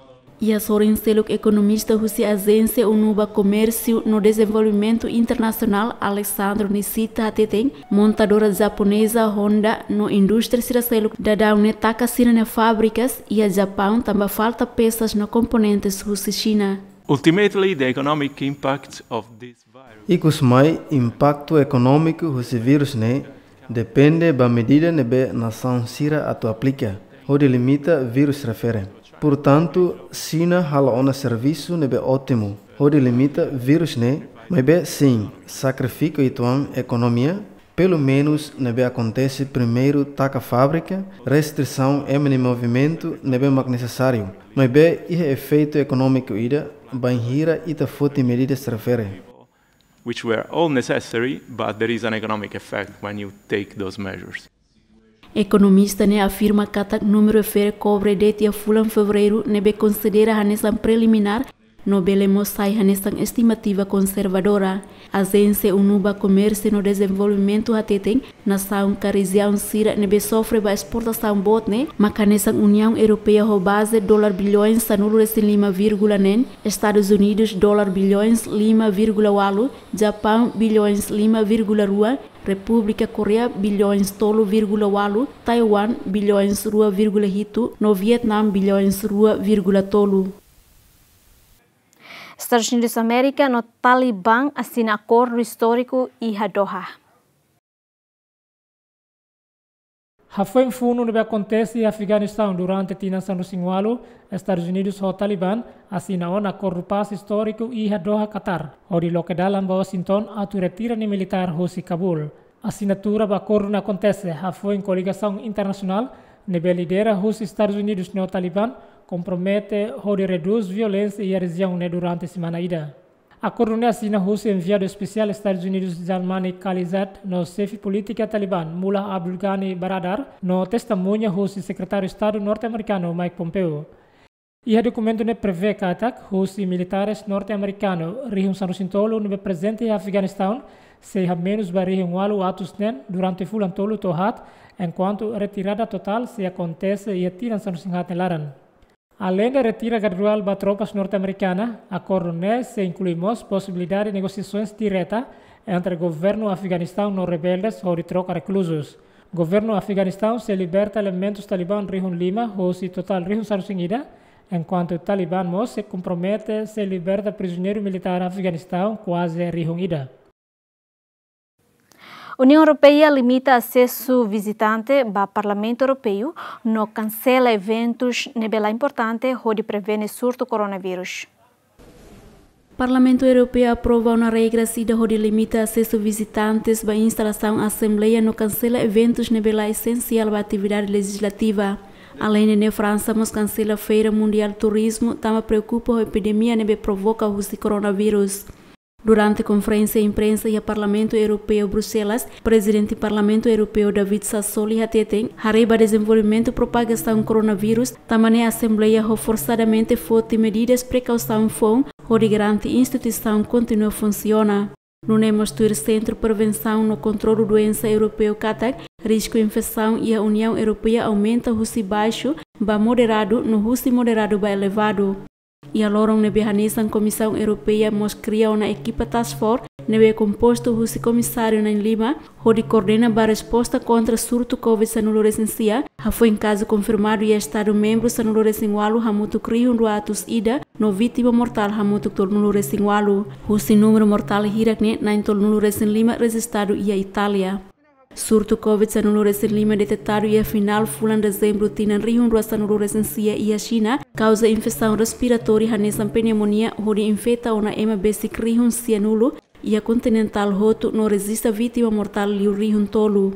Iha sorin seluk, ekonomista husi Ajénsia ONU ba Komérsiu no Dezenvolvimentu Internasionál, Alessandro Nishita, hateten, montadora japoneza Honda no indústria sira seluk daudaun ne'e taka sira-nia fábrikas iha Japaun tanba falta pesas no komponentes husi Xina. Ultimately, the economic impact of this virus. Ikusmai, impaktu ekonómiku husi vírus ne'e depende ba medida ne'ebé nasaun sira atu aplika hodi limita vírus refere. Portantu, Xina halo ona servisu ne'ebé ótimu hodi limita vírus ne'e, maibé sin, sakrifika uitoan ekonomia, pelumenus ne'ebé akontese primeiru taka fábrika, restrisaun ema nia movimentu ne'ebé mak nesesáriu, maibé iha efeitu ekonómiku ida bainhira ita foti medidas refere. Which were all necessary, but there is an economic effect when you take those measures. Ekonomista ne'e afirma katak númeru refere kobre de'it iha fulan Fevereiru ne'ebé konsidera hanesan preliminár, no bele mós sai hanesan estimativa konservadora. Ajénsia ONU ba Komérsiu no Dezenvolvimentu hateten, nasaun ka rejiaun sira ne'ebé sofre ba esportasaun boot ne'e mak hanesan Uniaun Europeia ho baze dolar bilhões sanulu resin lima vírgula neen, Estadus Unidus dolar bilhões lima vírgula ualu, Japaun bilhões lima vírgula rua, Repúblika Koreia bilhões tolu vírgula ualu, Taiwan bilhões rua vírgula hitu, no Vietnam bilhões rua vírgula tolu. Estadus Unidus Amérika no Talibán asina akordu istóriku iha Doha. Hafoin funu ne'ebé akontese iha Afeganistaun durante tinan sanulu-resin-ualu, Estadus Unidus ho Talibán asina ona akordu pás istóriku iha Doha, Qatar, hodi loke dalan ba Washington atu retira nia militár husi Kabul. Asinatura ba akordu ne'e akontese hafoin koligasaun internasionál ne'ebé lidera husi Estadus Unidus no Talibán kompromete hodi redús violénsia iha rejiaun ne'e durante semana ida. Akordu ne'e asina husi enviadu espesiál Estadus Unidus Jalmany Khalilzad no xefe polítika Talibán Mullah Abdul Ghani Baradar no testemuña husi Sekretáriu Estadu norte-amerikanu Mike Pompeo. Iha dokumentu ne'e prevee katak husi militáres norte-amerikanu rihun sanulu-resin-tolu ne'ebé prezente iha Afeganistaun sei hamenus ba rihun ualu atus neen durante fulan tolu to'o haat, enkuantu retirada totál sei akontese iha tinan sanulu-resin-haat nia laran. Aleinde retira graduál ba tropas norte-amerikana, akordu ne'e sei inklui mós posibilidade negosiasoens direta entre governu Afeganistaun no rebeldes hodi troka rekluzus. Governu Afeganistaun sei liberta elementus Taliban rihun lima hosi totál rihun sanulu-resin-ida, enkuantu Taliban mós sei kompromete sei liberta prizioneiru militár Afeganistaun kuaze rihun ida. Uniaun Europeia limita asesu vizitante ba Parlamentu Europeu no kansela eventus ne'ebé la importante hodi prevene surtu koronavírus. Parlamentu Europeu aprova ona regras ida hodi limita asesu vizitantes ba instalasaun asembleia no kansela eventus ne'ebé la esensiál ba atividade lejizlativa. Aleinde ne'e, Fransa mós kansela Feira Mundiál Turizmu, tanba preokupa ho epidemia ne'ebé provoka husi koronavírus. Durante konferénsia imprensa iha Parlamentu Europeu, Bruxelas, Prezidente Parlamentu Europeu David Sassoli hateten, haree ba dezenvolvimentu propagasaun koronavírus, tanba ne'e asembleia ho forsadamente foti medidas prekausaun foun hodi garante instituisaun kontinua funsiona. Nune'e mós tuir Sentru Prevensaun no Kontrolu Doensa Europeu katak risku infesaun iha Uniaun Europeia aumenta husi baixu ba moderadu no husi moderadu ba elevadu. Iha loron ne'ebé hanesan Komisaun Europeia mós kria ona ekipa task force ne'ebé kompostu husi komisáriu na'in-lima hodi koordena ba resposta kontra surtu covid sanulu-resin-sia, hafoin kazu konfirmadu iha Estadu membru sanulu-resin-ualu hamutuk rihun rua atus ida no vítima mortál hamutuk tolunulu-resin-ualu. Husi númeru mortál hirak ne'e na'in tolunulu-resin-lima rejistadu iha Itália. Surtu covid sanulu-resin-lima detetadu iha finál fulan Dezembru tinan rihun rua sanulu-resin-sia iha Xina, kauza infesaun respiratória hanesan pneumonia hodi infeta ona ema besik rihun sianulu iha kontinentál hotu no rejista vítima mortál liu rihun tolu.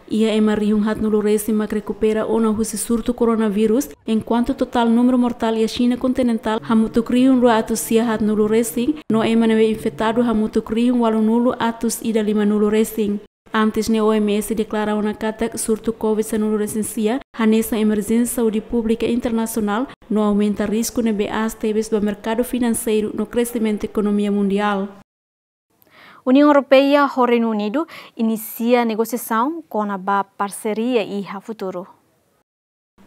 Iha ema rihun haatnulu-resin mak rekupera ona husi surtu koronavírus, enkuantu totál númeru mortál iha Xina kontinentál hamutuk rihun rua atus sia haatnulu-resin, no ema ne'ebé infetadu hamutuk rihun ualunulu atus ida limanulu-resin. Antes ne'e, O M S deklara ona katak surtu covid sanulu-resin-sia hanesan emerjénsia saúde públika internasionál no aumenta risku ne'ebé aas tebes ba merkadu finanseiru no kresimentu ekonomia mundiál. Uniaun Europeia ho Reinu Unidu inisia negosiasaun kona-ba parseria iha futuru.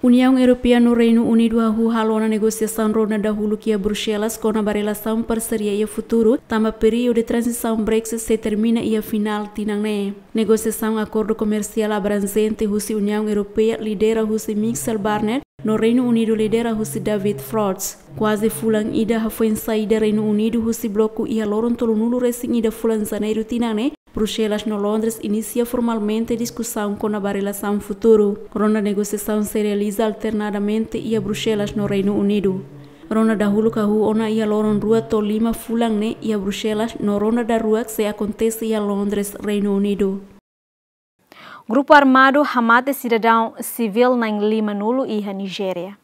Uniaun Europeia no Reinu Unidu hahú halo ona negosiasaun ronda dahuluk iha Bruxelas kona-ba relasaun parseria iha futuru, tanba períodu tranzisaun Brexit sei termina iha finál tinan ne'e. Negosiasaun akordu komersiál abranjente husi Uniaun Europeia lidera husi Michel Barnier no Reinu Unidu lidera husi David Frost. Kuaze fulan ida hafoin saida Reinu Unidu husi bloku iha loron tolunulu-resin-ida fulan Janeiru tinan ne'e, Bruxelas no Londres inisia formalmente diskusaun kona-ba relasaun futuru. Ronda negosiasaun sei realiza alternadamente iha Bruxelas no Reinu Unidu. Ronda dahuluk hahú ona iha loron rua to'o lima fulan ne'e iha Bruxelas, no ronda daruak sei akontese iha Londres, Reinu Unidu. Grupu armadu hamate sidadaun sivíl na'in-limanulu iha Nijéria.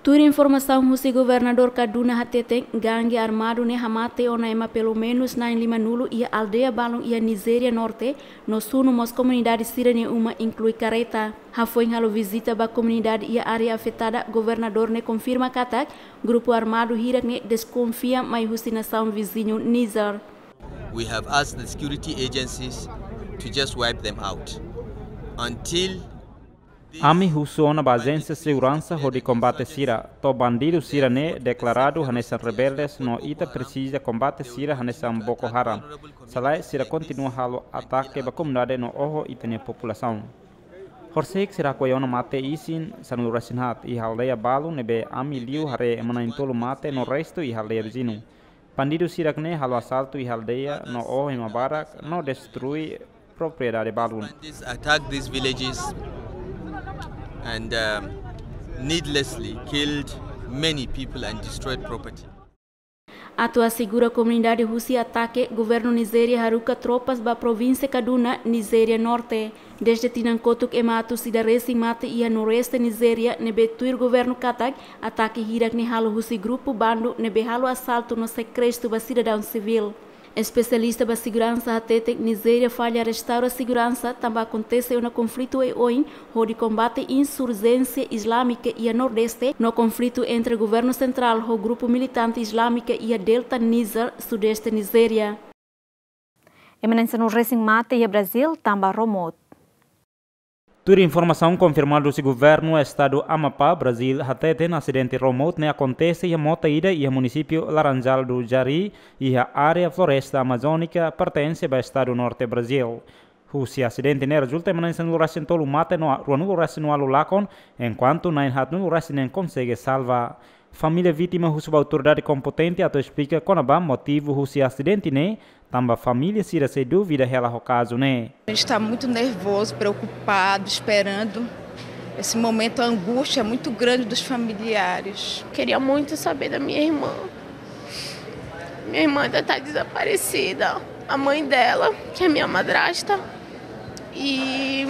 Tuir informasaun husi Governadór Kaduna hateten, gangue armadu ne'e hamate ona ema pelumenus na'in-limanulu iha aldeia balun iha Nijéria Norte, no sunu mós komunidade sira-nia uma, inklui karreta. Hafoin halo vizita ba komunidade iha área afetada, governadór ne'e konfirma katak grupu armadu hirak ne'e deskonfia mai husi nasaun viziñu Nizer. We have asked the security agencies to just wipe them out until these Ami husu ona ba ajénsia seguransa hodi kombate sira, to'o bandidu sira ne'e deklaradu hanesan rebeldes no ita presiza kombate sira hanesan Boko Haram. Se lae, sira kontinua halo atake ba komunidade no oho ita-nia populasaun. Horisehik sira hakoi ona mate isin sanulu-resin-haat iha aldeia balun ne'ebé ami liu haree ema na'in-tolu mate no restu iha aldeia viziñu. Bandidu sira ne'e halo asaltu iha aldeia no oho ema barak no destrui propriedade balun. Bandits attacked these villages and, um, needlessly killed many people and destroyed property. Atu asegura komunidade husi atake, governu Nijéria haruka tropas ba provínsia Kaduna, Nijéria Norte. Dezde tinan kotuk ema atus ida resin mate iha noroeste Nijéria, ne'ebé tuir governu katak atake hirak ne'e halo husi grupu bandu ne'ebé halo asaltu no sekestru ba sidadaun sivíl. Espesialista ba seguransa hateten, Nijéria falla restaura seguransa tanba akontese ona konflitu oioin hodi kombate insurjénsia islámika iha Nordeste, no konflitu entre governu sentrál ho grupu militante islámika iha Delta Nizer, Sudeste Nijéria. Ema na'in sanulu-resin mate iha Brazil tanba ró mout. Tuir informasaun konfirmadu husi Governu Estadu Amapá, Brazil hateten asidente ró mout ne'e akontese iha mota ida iha munisípiu Laranjal do Jari, iha área floresta amazónika pertense ba estadu norte Brazil. Husi asidente ne'e rezulta ema na'in sanulu-resin-tolu mate no ruanulu-resin-ualu lakon, enkuantu na'in haatnulu-resin-neen konsege salva. Família vítima husu ba autoridade kompetente atu esplika kona-ba motivu husi asidente ne'e, tanba família sira sei dúvida hela ho kazu ne'e. A gente está muito nervoso, preocupado, esperando. Esse momento, a angústia é muito grande dos familiares. Queria muito saber da minha irmã. Minha irmã ainda está desaparecida. A mãe dela, que é minha madrasta, e,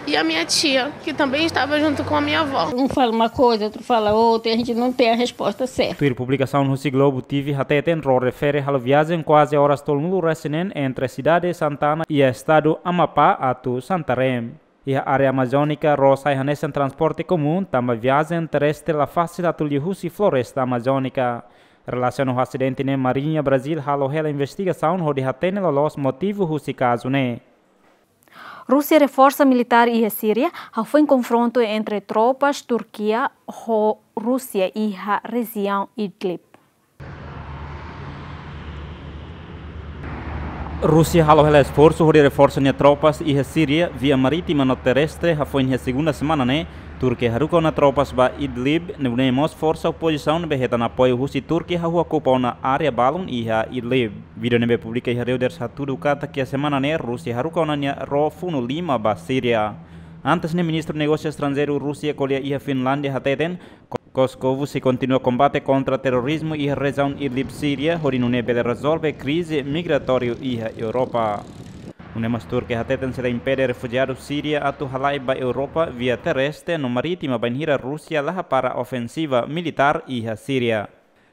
e a minha tia, que também estava junto com a minha avó. Um fala uma coisa, outro fala outra, e a gente não tem a resposta certa. Tuir publikasaun husi Globo T V hateten ró refere halo viajen kuaze oras tolunulu-resin-neen entre sidade Santana iha estadu Amapá atu Santarém. Iha área amazónika ró sai hanesan transporte komún, tanba viajen terrestre la fasil atu liu husi floresta amazónika. Relasiona ho asidente ne'e, Marinha Brazil halo hela investigasaun hodi hatene loloos motivu husi kazu ne'e. Rúsia reforsa militár iha Síria, hafoin konfrontu entre tropas Turkia ho Rúsia iha rejiaun Idlib. Rúsia halo hela esforsu hodi reforsa nia tropas iha Síria via marítima no terrestre, hafoin iha segunda semana ne'e, Turkia haruka ona tropas ba Idlib, nune'e mós forsa opozisaun ne'ebé hetan apoiu husi Turkia hahú okupa ona área balun iha Idlib. Vídeo ne'ebé publika iha Reuters hatudu katak iha semana ne'e Rúsia haruka ona nia ró funu lima ba Síria. Antes ne'e, Ministru Negósiu Estranjeiru Rúsia ko'alia iha Finlándia hateten, Ko-, Kosovu sei kontinua kombate kontra terrorizmu iha rejiaun Idlib Síria, hodi nune'e bele rezolve krize migratóriu iha Europa. Nune'e mós Turkia hateten sei la impede refujiadu Síria atu halai ba Europa via terrestre no marítima bainhira Rúsia la hapara ofensiva militár iha Síria.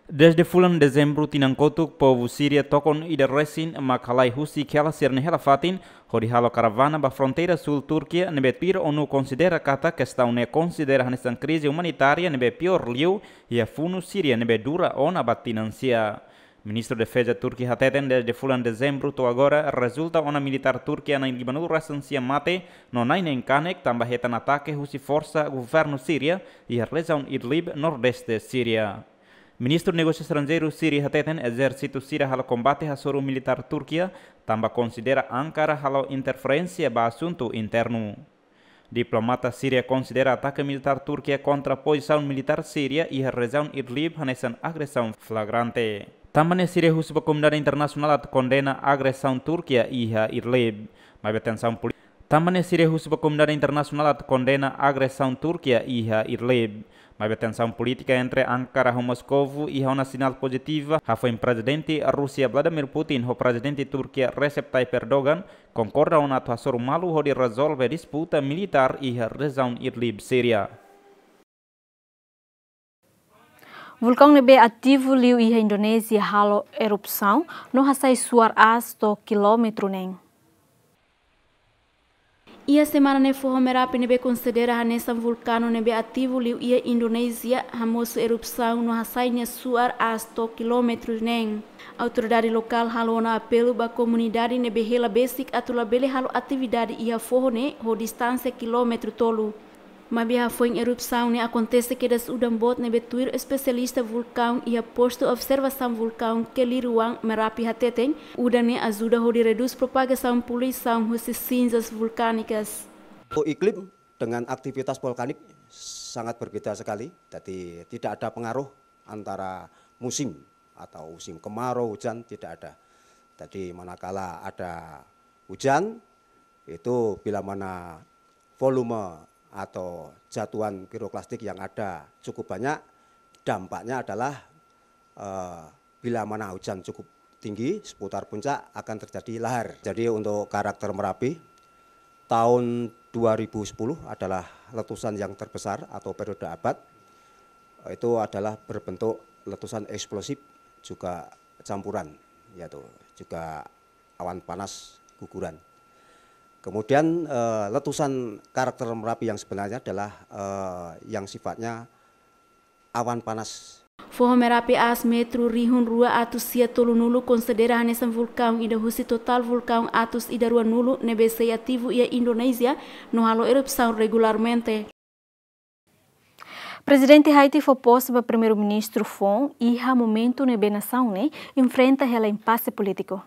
Desde fulan Dezembru tinan kotuk, povu Síria tokon ida resin mak halai husik hela sira-nia hela-fatin, hodi halo karavana ba fronteira súl Turkia, ne'ebé tuir ONU konsidera katak kestaun ne'e konsidera hanesan krize umanitária ne'ebé piór liu iha funu Síria ne'ebé dura ona ba tinan sia. Ministru Defeza Turkia hateten desde fulan Dezembru to'o agora rezulta ona militár Turkia na'in limanulu-resin-sia mate no na'in neen kanek tanba hetan atake husi forsa governu Síria iha rejiaun Idlib, nordeste Síria. Ministru Negósiu Estranjeiru Síria hateten ezérsitu sira halo kombate hasoru militár Turkia, tanba konsidera Ankara halo interferénsia ba asuntu internu. Diplomata Síria konsidera atake militár Turkia kontra pozisaun militár Síria iha rejiaun Idlib hanesan agresaun flagrante. Tanba ne'e Síria husu ba komunidade internasionál atu kondena agresaun Turkia iha Idlib. Maibé tensaun poli-, Tanba ne'e Síria husu ba komunidade internasionál atu kondena agresaun Turkia iha Idlib. Maibé tensaun polítika entre Ankara ho Moskovu iha ona sinál pozitiva, hafoin Prezidente Rúsia Vladimir Putin ho Prezidente Turkia Recep Tayyip Erdogan konkorda ona atu hasoru malu hodi rezolve disputa militár iha rejiaun Idlib, Síria. Vulkaun ne'ebé ativu liu iha Indonézia halo erupasaun no hasai suar aas to'o kilómetru neen. Iha semana ne'e foho Merapi ne'ebé konsidera hanesan vulkaun ne'ebé ativu liu iha Indonézia hamosu erupasaun no hasai nia suar aas to'o kilómetru neen. Autoridade lokál halo ona apelu ba komunidade ne'ebé hela besik atu labele halo atividade iha foho ne'e ho distánsia kilómetru tolu. Maibé hafoin erupasaun ne'e akontese kedas udan boot ne'ebé tuir espesialista vulkaun iha Postu Observasaun Vulkaun Keliruan Merapi hateten, udan ne'e ajuda hodi redús propagasaun poluisaun husi sinzas vulkánikas. Untuk iklim dengan aktivitas vulkanik sangat berbeda sekali, jadi tidak ada pengaruh antara musim atau musim kemarau, hujan, tidak ada. Jadi manakala ada hujan, itu bila mana volume atau jatuhan piroklastik yang ada cukup banyak, dampaknya adalah, eh, bila mana hujan cukup tinggi seputar puncak akan terjadi lahar. Jadi untuk karakter Merapi, tahun dua ribu sepuluh adalah letusan yang terbesar atau periode abad. Itu adalah berbentuk letusan eksplosif juga campuran, yaitu juga awan panas guguran. Kemudian, eh, letusan karakter Merapi yang sebenarnya adalah, eh, yang sifatnya awan panas Foho Merapi aas metru rihun rua atus sia tolunulu, konsidera hanesan vulkaun ida husi totál vulkaun atus ida ruanulu ne'ebé sei ativu iha Indonézia no halo erupasaun regularmente. Prezidente Haiti fó pose ba Primeiru-Ministru foun iha momentu ne'ebé nasaun ne'e enfrenta hela impase polítiku.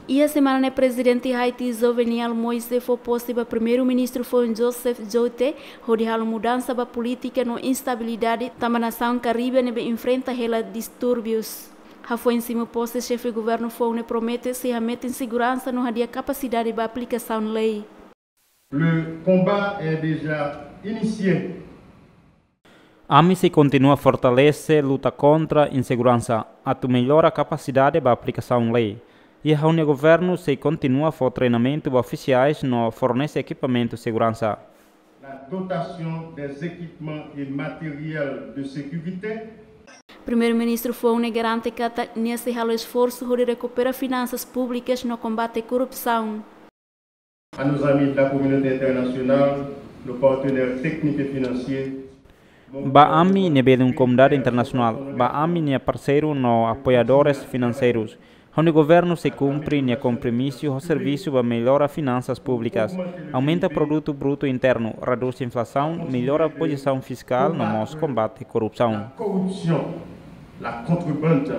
Iha semana ne'e Prezidente Haiti Jovenel Moïse fó pose ba Primeiru-Ministru foun Joseph Jouthe, hodi halo mudansa ba polítika no instabilidade tanba nasaun Karibe ne'ebé enfrenta hela distúrbius. Hafoin simu pose, xefe governu foun ne'e promete sei hametin seguransa no hadi'a kapasidade ba aplikasaun lei. Le combat est déjà initié. Ami sei kontinua fortalese luta kontra inseguransa, atu mellora kapasidade ba aplikasaun lei. I ha'u-nia governu sei kontinua fó treinamentu ba ofisiais no fornese ekipamentu seguransa. La dotation des équipements et matériel de sécurité. Primeiru-Ministru foun ne'e garante katak nia sei halo esforsu hodi rekupera finansas públikas no kombate korrupsaun. À nos amis de la communauté internationale, nos partenaires techniques et financiers. Ba ami ne'ebé liu komunidade internasionál, ba ami-nia parseiru no apoiadores finanseirus, ha'u-nia governu sei kumpre nia kompromisu ho servisu ba mellora finansas públikas, aumenta produtu brutu internu, redús inflasaun, mellora pozisaun fiskál no mós kombate korrupsaun. La corruption, la contrebande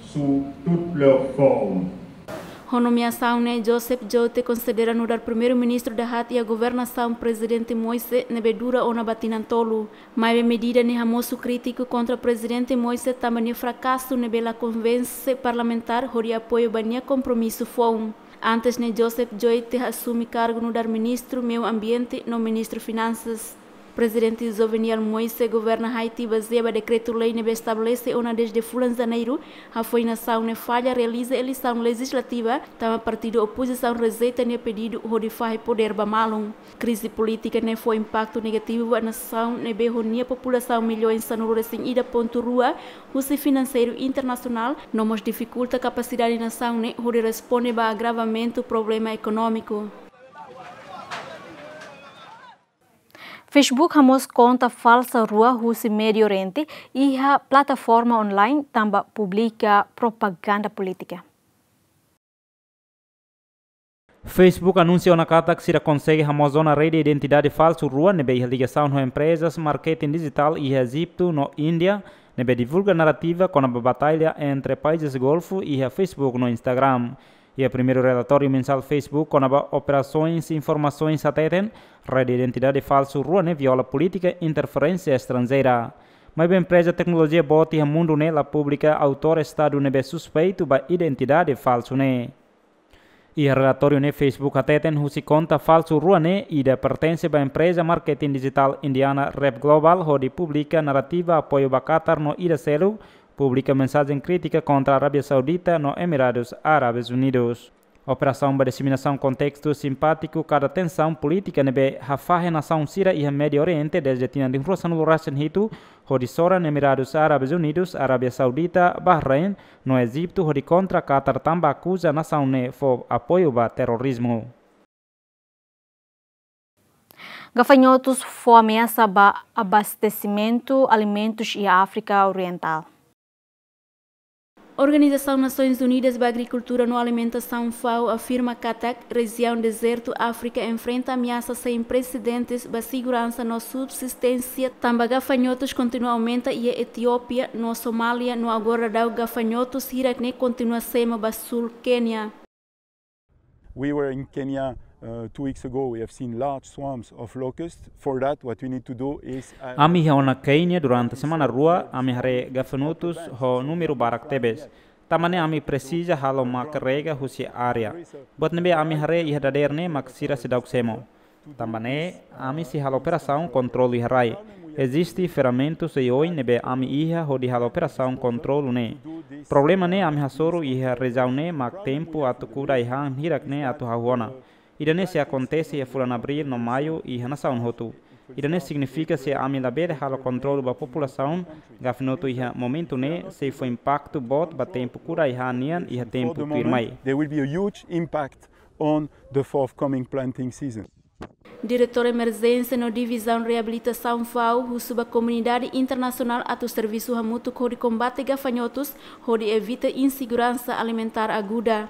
sous toutes leurs formes. Ho nomeasaun ne'e, Joseph Jouthe konsidera nu'udar Primeiru-Ministru dahad iha governasaun Prezidente Moïse ne'ebé dura ona ba tinan tolu. Maibé medida ne'e hamosu krítiku kontra Prezidente Moïse tanba nia frakasu ne'ebé la konvense parlamentár hodi apoiu ba nia kompromisu foun. Antes ne'e, Joseph Jouthe asume kargu nu'udar Ministru Meiu Ambiente no Ministru Finansas. Prezidente Jovenel Moïse governa Haiti bazeia ba dekretu-lei ne'ebé estabelese ona dezde fulan Janeiru, hafoin nasaun ne'e falla realiza eleisaun lejizlativa, tanba partidu opozisaun rejeita nia pedidu hodi fahe podér ba malu. Krize polítika ne'e fó impaktu negativu ba nasaun ne'ebé ho nia populasaun milhões sanulu-resin-ida pontu rua husi finanseiru internasionál, no mós difikulta kapasidade nasaun ne'e hodi responde ba agravamentu problema ekonómiku. Facebook hamoos konta falsa rua husi Médiu Oriente iha plataforma online tanba publika propaganda polítika. Facebook anunsia ona katak sira konsege hamoos ona rede identidade falsu rua ne'ebé iha ligasaun ho emprezas marketing dijitál iha Ejitu no Índia, ne'ebé divulga narrativa kona-ba batalla entre países Golfu iha Facebook no Instagram. Iha primeiru relatóriu mensál Facebook kona-ba operasoens informasoens hateten, rede identidade falsu rua ne'e viola polítika interferénsia estranjeira. Maibé empreza teknolojia boot iha mundu ne'e la publika autór Estadu ne'ebé suspeitu ba identidade falsu ne'e. Iha relatóriu ne'e Facebook hateten husi konta falsu rua ne'e ida pertense ba empreza marketing dijitál indiana Rep Global hodi publika narrativa apoiu ba Qatar no ida seluk publika mensajen krítika kontra Arábia Saudita no Emiradus Árabes Unidus. Operasaun ba diseminasaun kontestu simpátiku kada tensaun polítika ne'ebé hafahe nasaun sira iha Médiu Oriente dezde tinan rihun rua sanulu-resin-hitu, hodi soran Emiradus Árabes Unidus, Arábia Saudita, Bahrein no Ejitu hodi kontra Qatar tanba akuza nasaun ne'e fó apoiu ba terrorizmu. Gafanhotus fó ameasa ba abastesimentu alimentus iha Áfrika Orientál. Organizasaun Nasoins Unidas ba Agrikultura no Alimentasaun, FAO, afirma katak rejiaun dezertu Áfrika enfrenta ameasa sein presedentes ba seguransa no subsisténsia, tanba gafanhotus kontinua aumenta iha Etiópia no Somália, no agora daudaun gafanhotus hirak ne'e kontinua semo ba súl Kénia. We were in Kenya, uh, two weeks ago. We have seen large swarms of locusts. For that, what we need to do is, uh, Ami iha ona Kénia durante semana rua, ami haree gafanhotus ho númeru barak tebes. Tanba ne'e ami presiza halo mak rega husi área. Buat ne'ebé ami haree iha dadeer ne'e mak sira seidauk semo. Tanba ne'e, ami sei halo operasaun kontrolu iha rai. Eziste ferramentas oioin ne'ebé ami iha hodi halo operasaun kontrolu ne'e. Problema ne'e ami hasoru iha rejiaun ne'e mak tempu atu kuda ai-han hirak ne'e atu hahú ona. Ida-ne'e sei akontese iha fulan Abríl no Maiu iha nasaun hotu. Ida-ne'e signifika se ami labele halo kontrolu ba populasaun, gafanhotu iha momentu ne'e sei fó impaktu boot ba tempu kuda ai-han nian iha tempu tuirmai. There will be a huge impact on the forthcoming planting season. Diretór Emerjénsia no Divizaun Reabilitasaun FAO husu ba komunidade internasionál atu servisu hamutuk hodi kombate gafanhotus, hodi evita inseguransa alimentár aguda.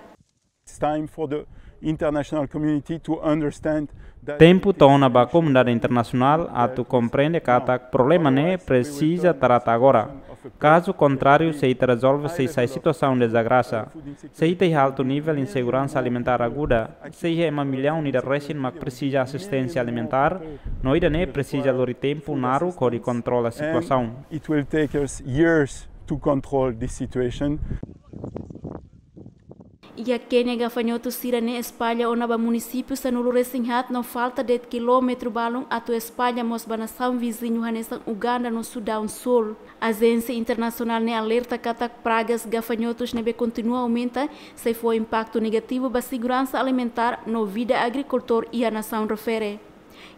It's time for the international community to understand that Tempu to'o ona ba komunidade internasionál atu komprende katak problema ne'e presiza trata agora. Kazu kontráriu, sei ita rezolve sei sai situasaun dezagrada. Sei ita iha altu nivel inseguransa alimentár aguda, sei iha ema millaun ida resin mak presiza asisténsia alimentár, no ida-ne'e presiza lori tempu naruk hodi kontrola situasaun. And it will take us years to control this situation. Iha Kénia, gafanhotus sira-ne'e espalla ona ba munisípiu sanulu-resin-haat no falta de'it kilómetru balun atu espalla mós ba nasaun viziñu hanesan Uganda no Sudaun Súl. Ajénsia internasionál ne'e alerta katak pragas gafanhotus ne'ebé kontinua aumenta sei fó impaktu negativu ba seguransa alimentár no vida agrikultór iha nasaun refere.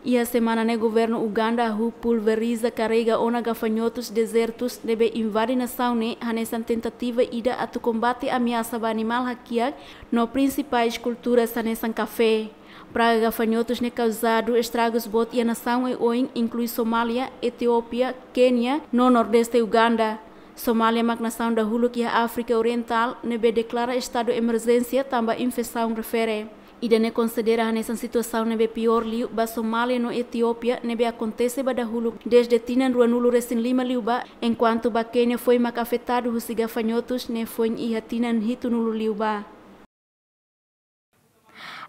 Iha semana ne'e governu Uganda hahú pulveriza karrega ona gafanhotus dezertus ne'ebé invade nasaun ne'e hanesan tentativa ida atu kombate ameasa ba animál hakiak no prinsipais kulturas hanesan kafé. Praga gafanhotus ne'e kauzadu estragus boot iha nasaun oioin, inklui Somália, Etiópia, Kénia no Nordeste Uganda. Somália mak nasaun dahuluk iha Áfrika Orientál ne'ebé deklara estadu emerjénsia tanba infesaun refere. Ida-ne'e konsidera hanesan situasaun ne'ebé piór liu ba Somália no Etiópia ne'ebé akontese ba dahuluk dezde tinan ruanulu-resin-lima liubá, enkuantu ba Kénia foin mak afetadu husi gafanhotus ne'e foin iha tinan hitunulu liubá.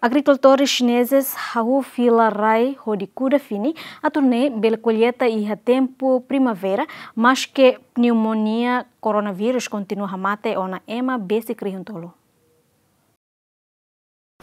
Agrikultór xinezes hahú fila rai hodi kuda fini atu nune'e bele kolleita iha tempu primavera, maske pneumonia koronavírus kontinua hamate ona ema besik rihun tolu.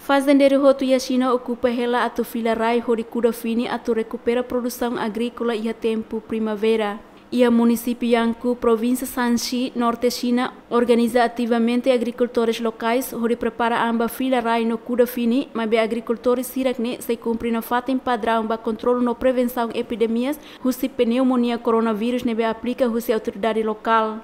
Fazendeiru hotu iha Xina okupa hela atu fila rai hodi kuda fini atu rekupera produsaun agríkola iha tempu primavera. Iha munisípiu Yangkou, provínsia Shanxi, norte Xina, organiza ativamente agrikultores lokais hodi prepara an ba fila rai no kuda fini, maibé agrikultores hirak-ne'e sei kumpre nafatin padraun ba kontrolu no prevensaun epidemias husi pneumonia koronavírus ne'ebé aplika husi autoridade lokál.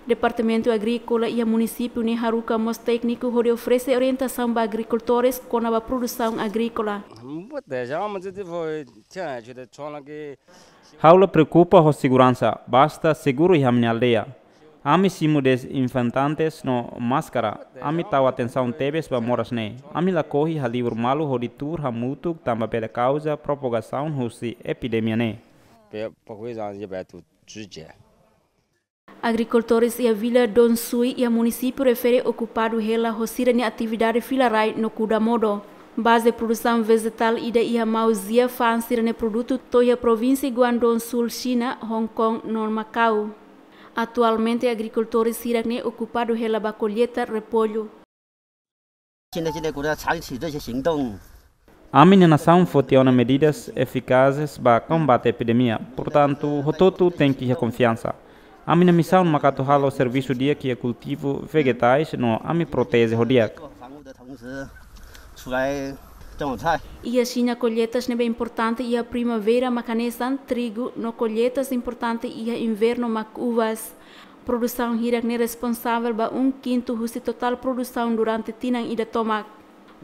Departamentu Agríkola iha munisípiu ne'e haruka mós tékniku hodi oferese orientasaun ba agrikultores kona-ba produsaun agríkola. Ha'u la preokupa ho seguransa, basta seguru iha ami-nia aldeia. Ami simu dezinfetantes no máskara, ami tau atensaun tebes ba moras ne'e. Ami lakohi halibur malu hodi tuur hamutuk tanba bele kauza propagasaun husi epidemia ne'e. Agrikultores iha vila Dongshui iha munisípiu refere okupadu hela ho sira-nia atividade fila rai no kuda modo. Baze produsaun vejetál ida iha Mauzia fa'an sira-nia produtu to'o iha provínsia Guangdong Sul, Xina, Hong Kong no Macau. Atualmente agrikultores hirak-ne'e okupadu hela ba kolleita repollu. Ami-nia nasaun foti ona medidas efikazes ba kombate epidemia. Portantu, hotu-hotu tenke iha konfiansa. Ami-nia misaun mak atu halo servisu di'ak iha kultivu vejetais no ami proteje ho di'ak. Iha Xina, kolleitas ne'ebé importante iha primavera mak hanesan trigu no kolleitas importante iha invernu mak uvas. Produsaun hirak-ne'e responsavel ba um kintu husi totál produsaun durante tinan ida tomak.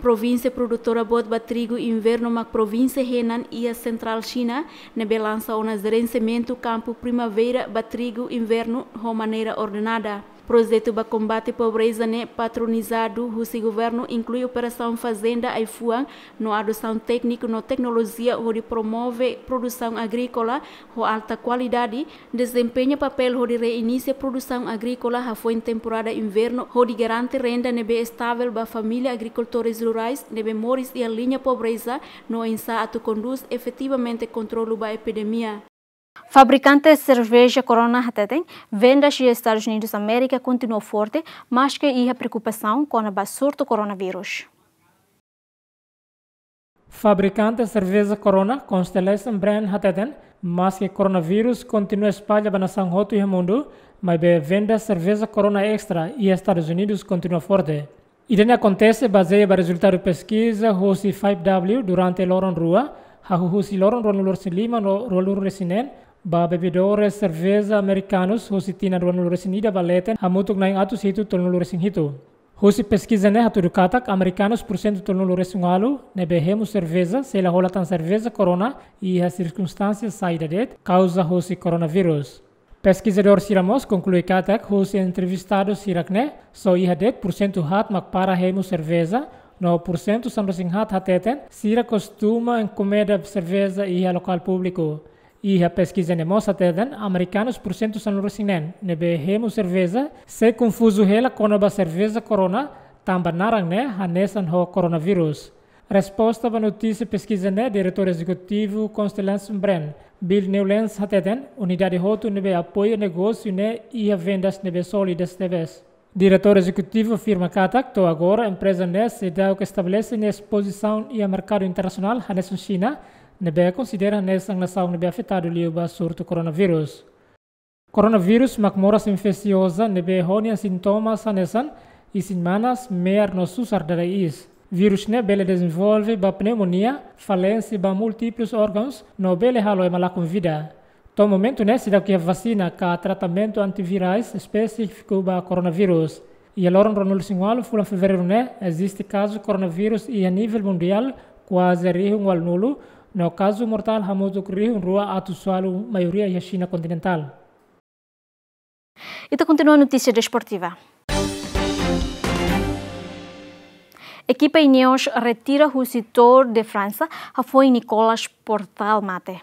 Provínsia produtora boot ba trigu invernu mak provínsia Henan iha sentrál Xina, ne'ebé lansa ona jerensiamentu kampu primavera ba trigu invernu ho maneira ordenada. Projetu ba kombate pobreza ne'e patronizadu husi governu inklui operasaun fazenda ai-fuan no adosaun tékniku no teknolojia hodi promove produsaun agríkola ho alta kualidade, dezempeña papél hodi reinisia produsaun agríkola hafoin temporada invernu hodi garante renda ne'ebé estavel ba família agrikultores rurais ne'ebé moris iha liña pobreza no oinsá atu kondús efetivamente kontrolu ba epidemia. Fabrikante serveja Corona hateten, vendas iha Estadus Unidus Amérika kontinua forte, maske iha preokupasaun kona-ba surtu koronavírus. Fabrikante serveja Corona, Constellation Brand hateten, maske koronavírus kontinua espalla ba nasaun hotu iha mundu, maibé vendas serveja Corona Extra iha Estadus Unidus kontinua forte. Ida-ne'e akontese bazeia ba rezultadu peskiza husi five W durante loron rua, hahú husi loron ruanulu-resin-lima no ruanulu-resin-neen, ba bebedores serveja amerikanus husi tinan ruanulu-resin-ida ba leten hamutuk na'in atus hitu tolunulu-resin-hitu. Husi peskiza ne'e hatudu katak amerikanus pursentu tolunulu-resin-ualu ne'ebé hemu serveja sei la hola tan serveja Corona iha sirkunstánsia saida de'it kauza husi koronavírus. Peskizadór sira mós konklui katak husi entrevistadu sira-ne'e só iha de'it pursentu haat mak para hemu serveja, no pursentu sanulu-resin-haat hateten sira kostuma enkomenda serveja iha lokál públiku. Iha peskiza ne'e mós hateten amerikanus pursentu sanulu-resin-neen ne'ebé hemu serveja sei konfuzu hela kona-ba serveja Corona, tanba naran ne'e hanesan ho koronavírus. Resposta ba notísia peskiza ne'e, Diretór Ezekutivu Constellation Brand, Bill Newlands hateten unidade hotu ne'ebé apoia negósiu ne'e iha vendas ne'ebé sólidas tebes. Diretór Ezekutivu afirma katak to'o agora empreza ne'e seidauk estabelese nia pozisaun iha merkadu internasionál hanesan Xina, ne'ebé konsidera hanesan nasaun ne'ebé afetadu liu ba surtu koronavírus. Koronavírus mak moras infesioza ne'ebé ho nia sintomas hanesan isin manas, me'ar no susar dada iis. Vírus ne'e bele dezenvolve ba pneumonia, falénsia ba múltiplus órgauns, no bele halo ema lakon vida. To'o momentu ne'e seidauk iha vasina ka tratamentu antivirais espesífiku ba koronavírus. Iha loron ruanulu-resin-ualu fulan Fevereiru ne'e eziste kazu koronavírus iha nivel mundiál kuaze rihun ualunulu, no kazu mortál hamutuk rihun rua atus ualu, maioria iha Xina kontinentál. Ita kontinua notísia desportiva. Ekipa Ineos retira husi Tour de França, hafoin Nicolas Portal mate.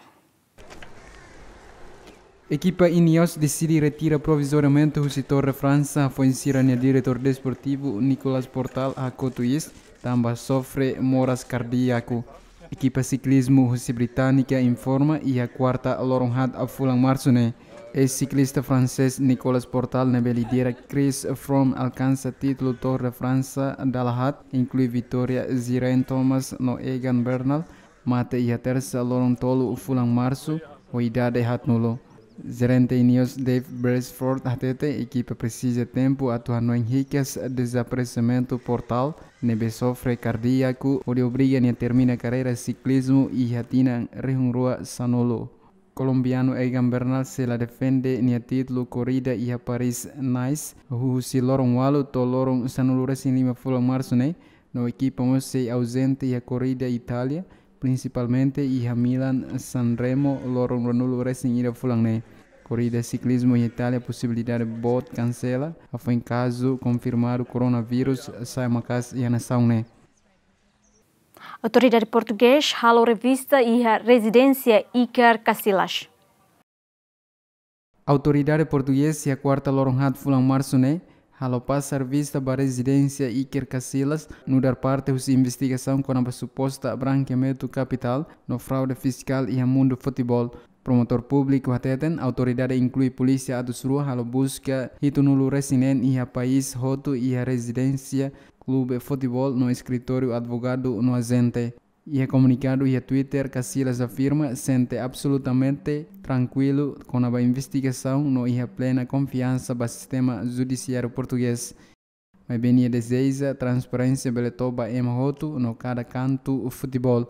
Ekipa Ineos deside retira provizoriamente husi Tour de França, hafoin sira-nia diretór desportivu Nicolas Portal hakotu iis, tanba sofre moras kardíaku. Ekipa siklizmu husi Británika informa iha kuarta loron haat fulan Marsu ne'e. Eis-siklista fransés Nicolas Portal ne'ebé lidera Chris Froome alkansa títulu Tour de França dala haat, inklui vitória Geraint Thomas no Egan Bernal, mate iha tersa loron tolu fulan Marsu, ho idade haatnulu. Jerente Ineos Dave Brailsford hatete ekipa presiza tempu atu hanoin hikas dezaparesimentu Portal, ne'ebé sofre kardíaku hodi obriga nia termina karreira siklizmu iha tinan rihun rua sanulu. Kolombianu Egan Bernal sei la defende nia títulu korrida iha Paris-Nice, husi loron ualu to'o loron sanulu-resin-lima fulan Marsu ne'e, no ekipa mós sei auzente iha korrida Itália, prinsipalmente iha Milan-San Remo loron ruanulu-resin-ida fulan ne'e. Korrida siklizmu iha Itália posibilidade boot kansela, hafoin kazu konfirmadu koronavírus sai maka'as iha nasaun ne'e. Autoridade portugés halo revista iha rezidénsia Iker Casillas. Autoridade portugés iha kuarta loron haat fulan Marsu ne'e halo pasa revista ba rezidénsia Iker Casillas, nu'udar parte husi investigasaun kona-ba suposta brankeamentu kapitál no fraude fiskál iha mundu futeból. Promotór públiku hateten autoridade inklui polísia atus rua halo buska hitunulu-resin-neen iha país hotu iha rezidénsia, klube futeból no eskritóriu advogadu no ajente. Iha komunikadu iha Twitter, Casillas afirma sente absolutamente trankuilu kona-ba investigasaun no iha plena konfiansa ba sistema judisiáriu portugés. Maibé nia dezeja transparénsia bele to'o ba ema hotu no kada kantu futeból.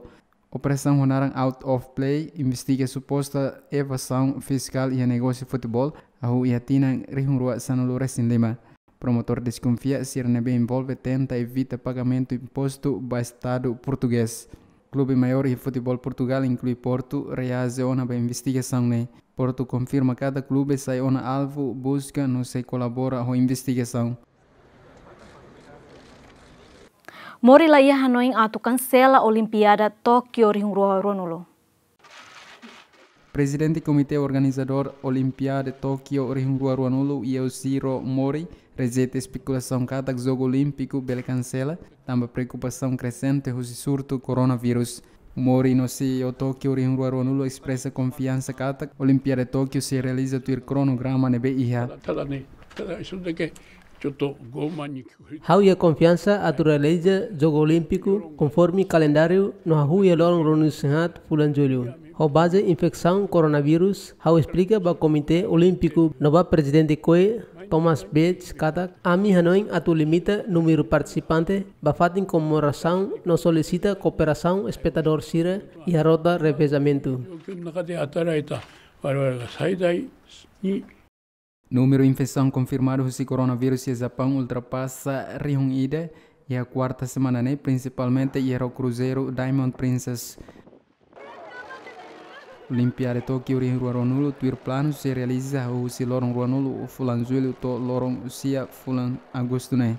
Operasaun ho naran Out of Play investiga suposta evazaun fiskál iha negósiu futeból, hahú iha tinan rihun rua sanulu-resin-lima. Promotór deskonfia sira ne'ebé envolve tenta evita pagamentu impostu ba Estadu portugés. Klube maiór iha futeból Portugál, inklui Portu, reaji ona ba investigasaun ne'e. Portu konfirma katak klube sai ona alvu buska no sei kolabora ho investigasaun. Mori la iha hanoin atu kansela Olimpiada Tókio rihun rua ruanulu. Prezidente Komité Organizadór Olimpiada Tókio rihun rua ruanulu, Yosihiro Mori, rejeita espekulasaun katak Jogu Olímpiku bele kansela, tanba preokupasaun kresente husi surtu koronavírus. Mori no C E O Tókio rihun rua ruanulu espresa konfiansa katak Olimpiada Tókio sei realiza tuir kronograma ne'ebé iha. Ha'u iha konfiansa atu realiza Jogu Olímpiku konforme kalendáriu no hahú iha loron ruanulu-resin-haat fulan Jullu. Ho baze infesaun koronavírus, ha'u esplika ba Komité Olímpiku no ba Prezidente C O I, Thomas Bach, katak ami hanoin atu limita númeru partisipante ba fatin komemorasaun no solisita kooperasaun espetadór sira iha rota revezamentu. Númeru infesaun konfirmadu husi koronavírus iha Japaun ultrapasa rihun ida iha kuarta semana ne'e, prinsipalmente iha ró kruzeiru Diamond Princess. Olimpiada Tókiu rihun rua ruanulu tuir planu sei realiza husi loron ruanulu fulan Jullu to'o loron sia fulan Agostu ne'e.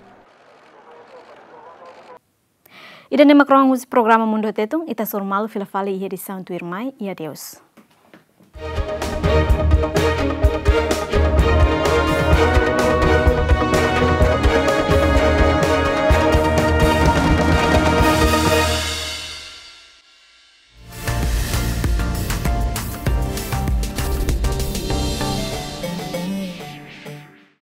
Ida-ne'e mak rohan husi programa Mundu Tetun, ita hasoru malu fila fali iha edisaun tuirmai, i adeus.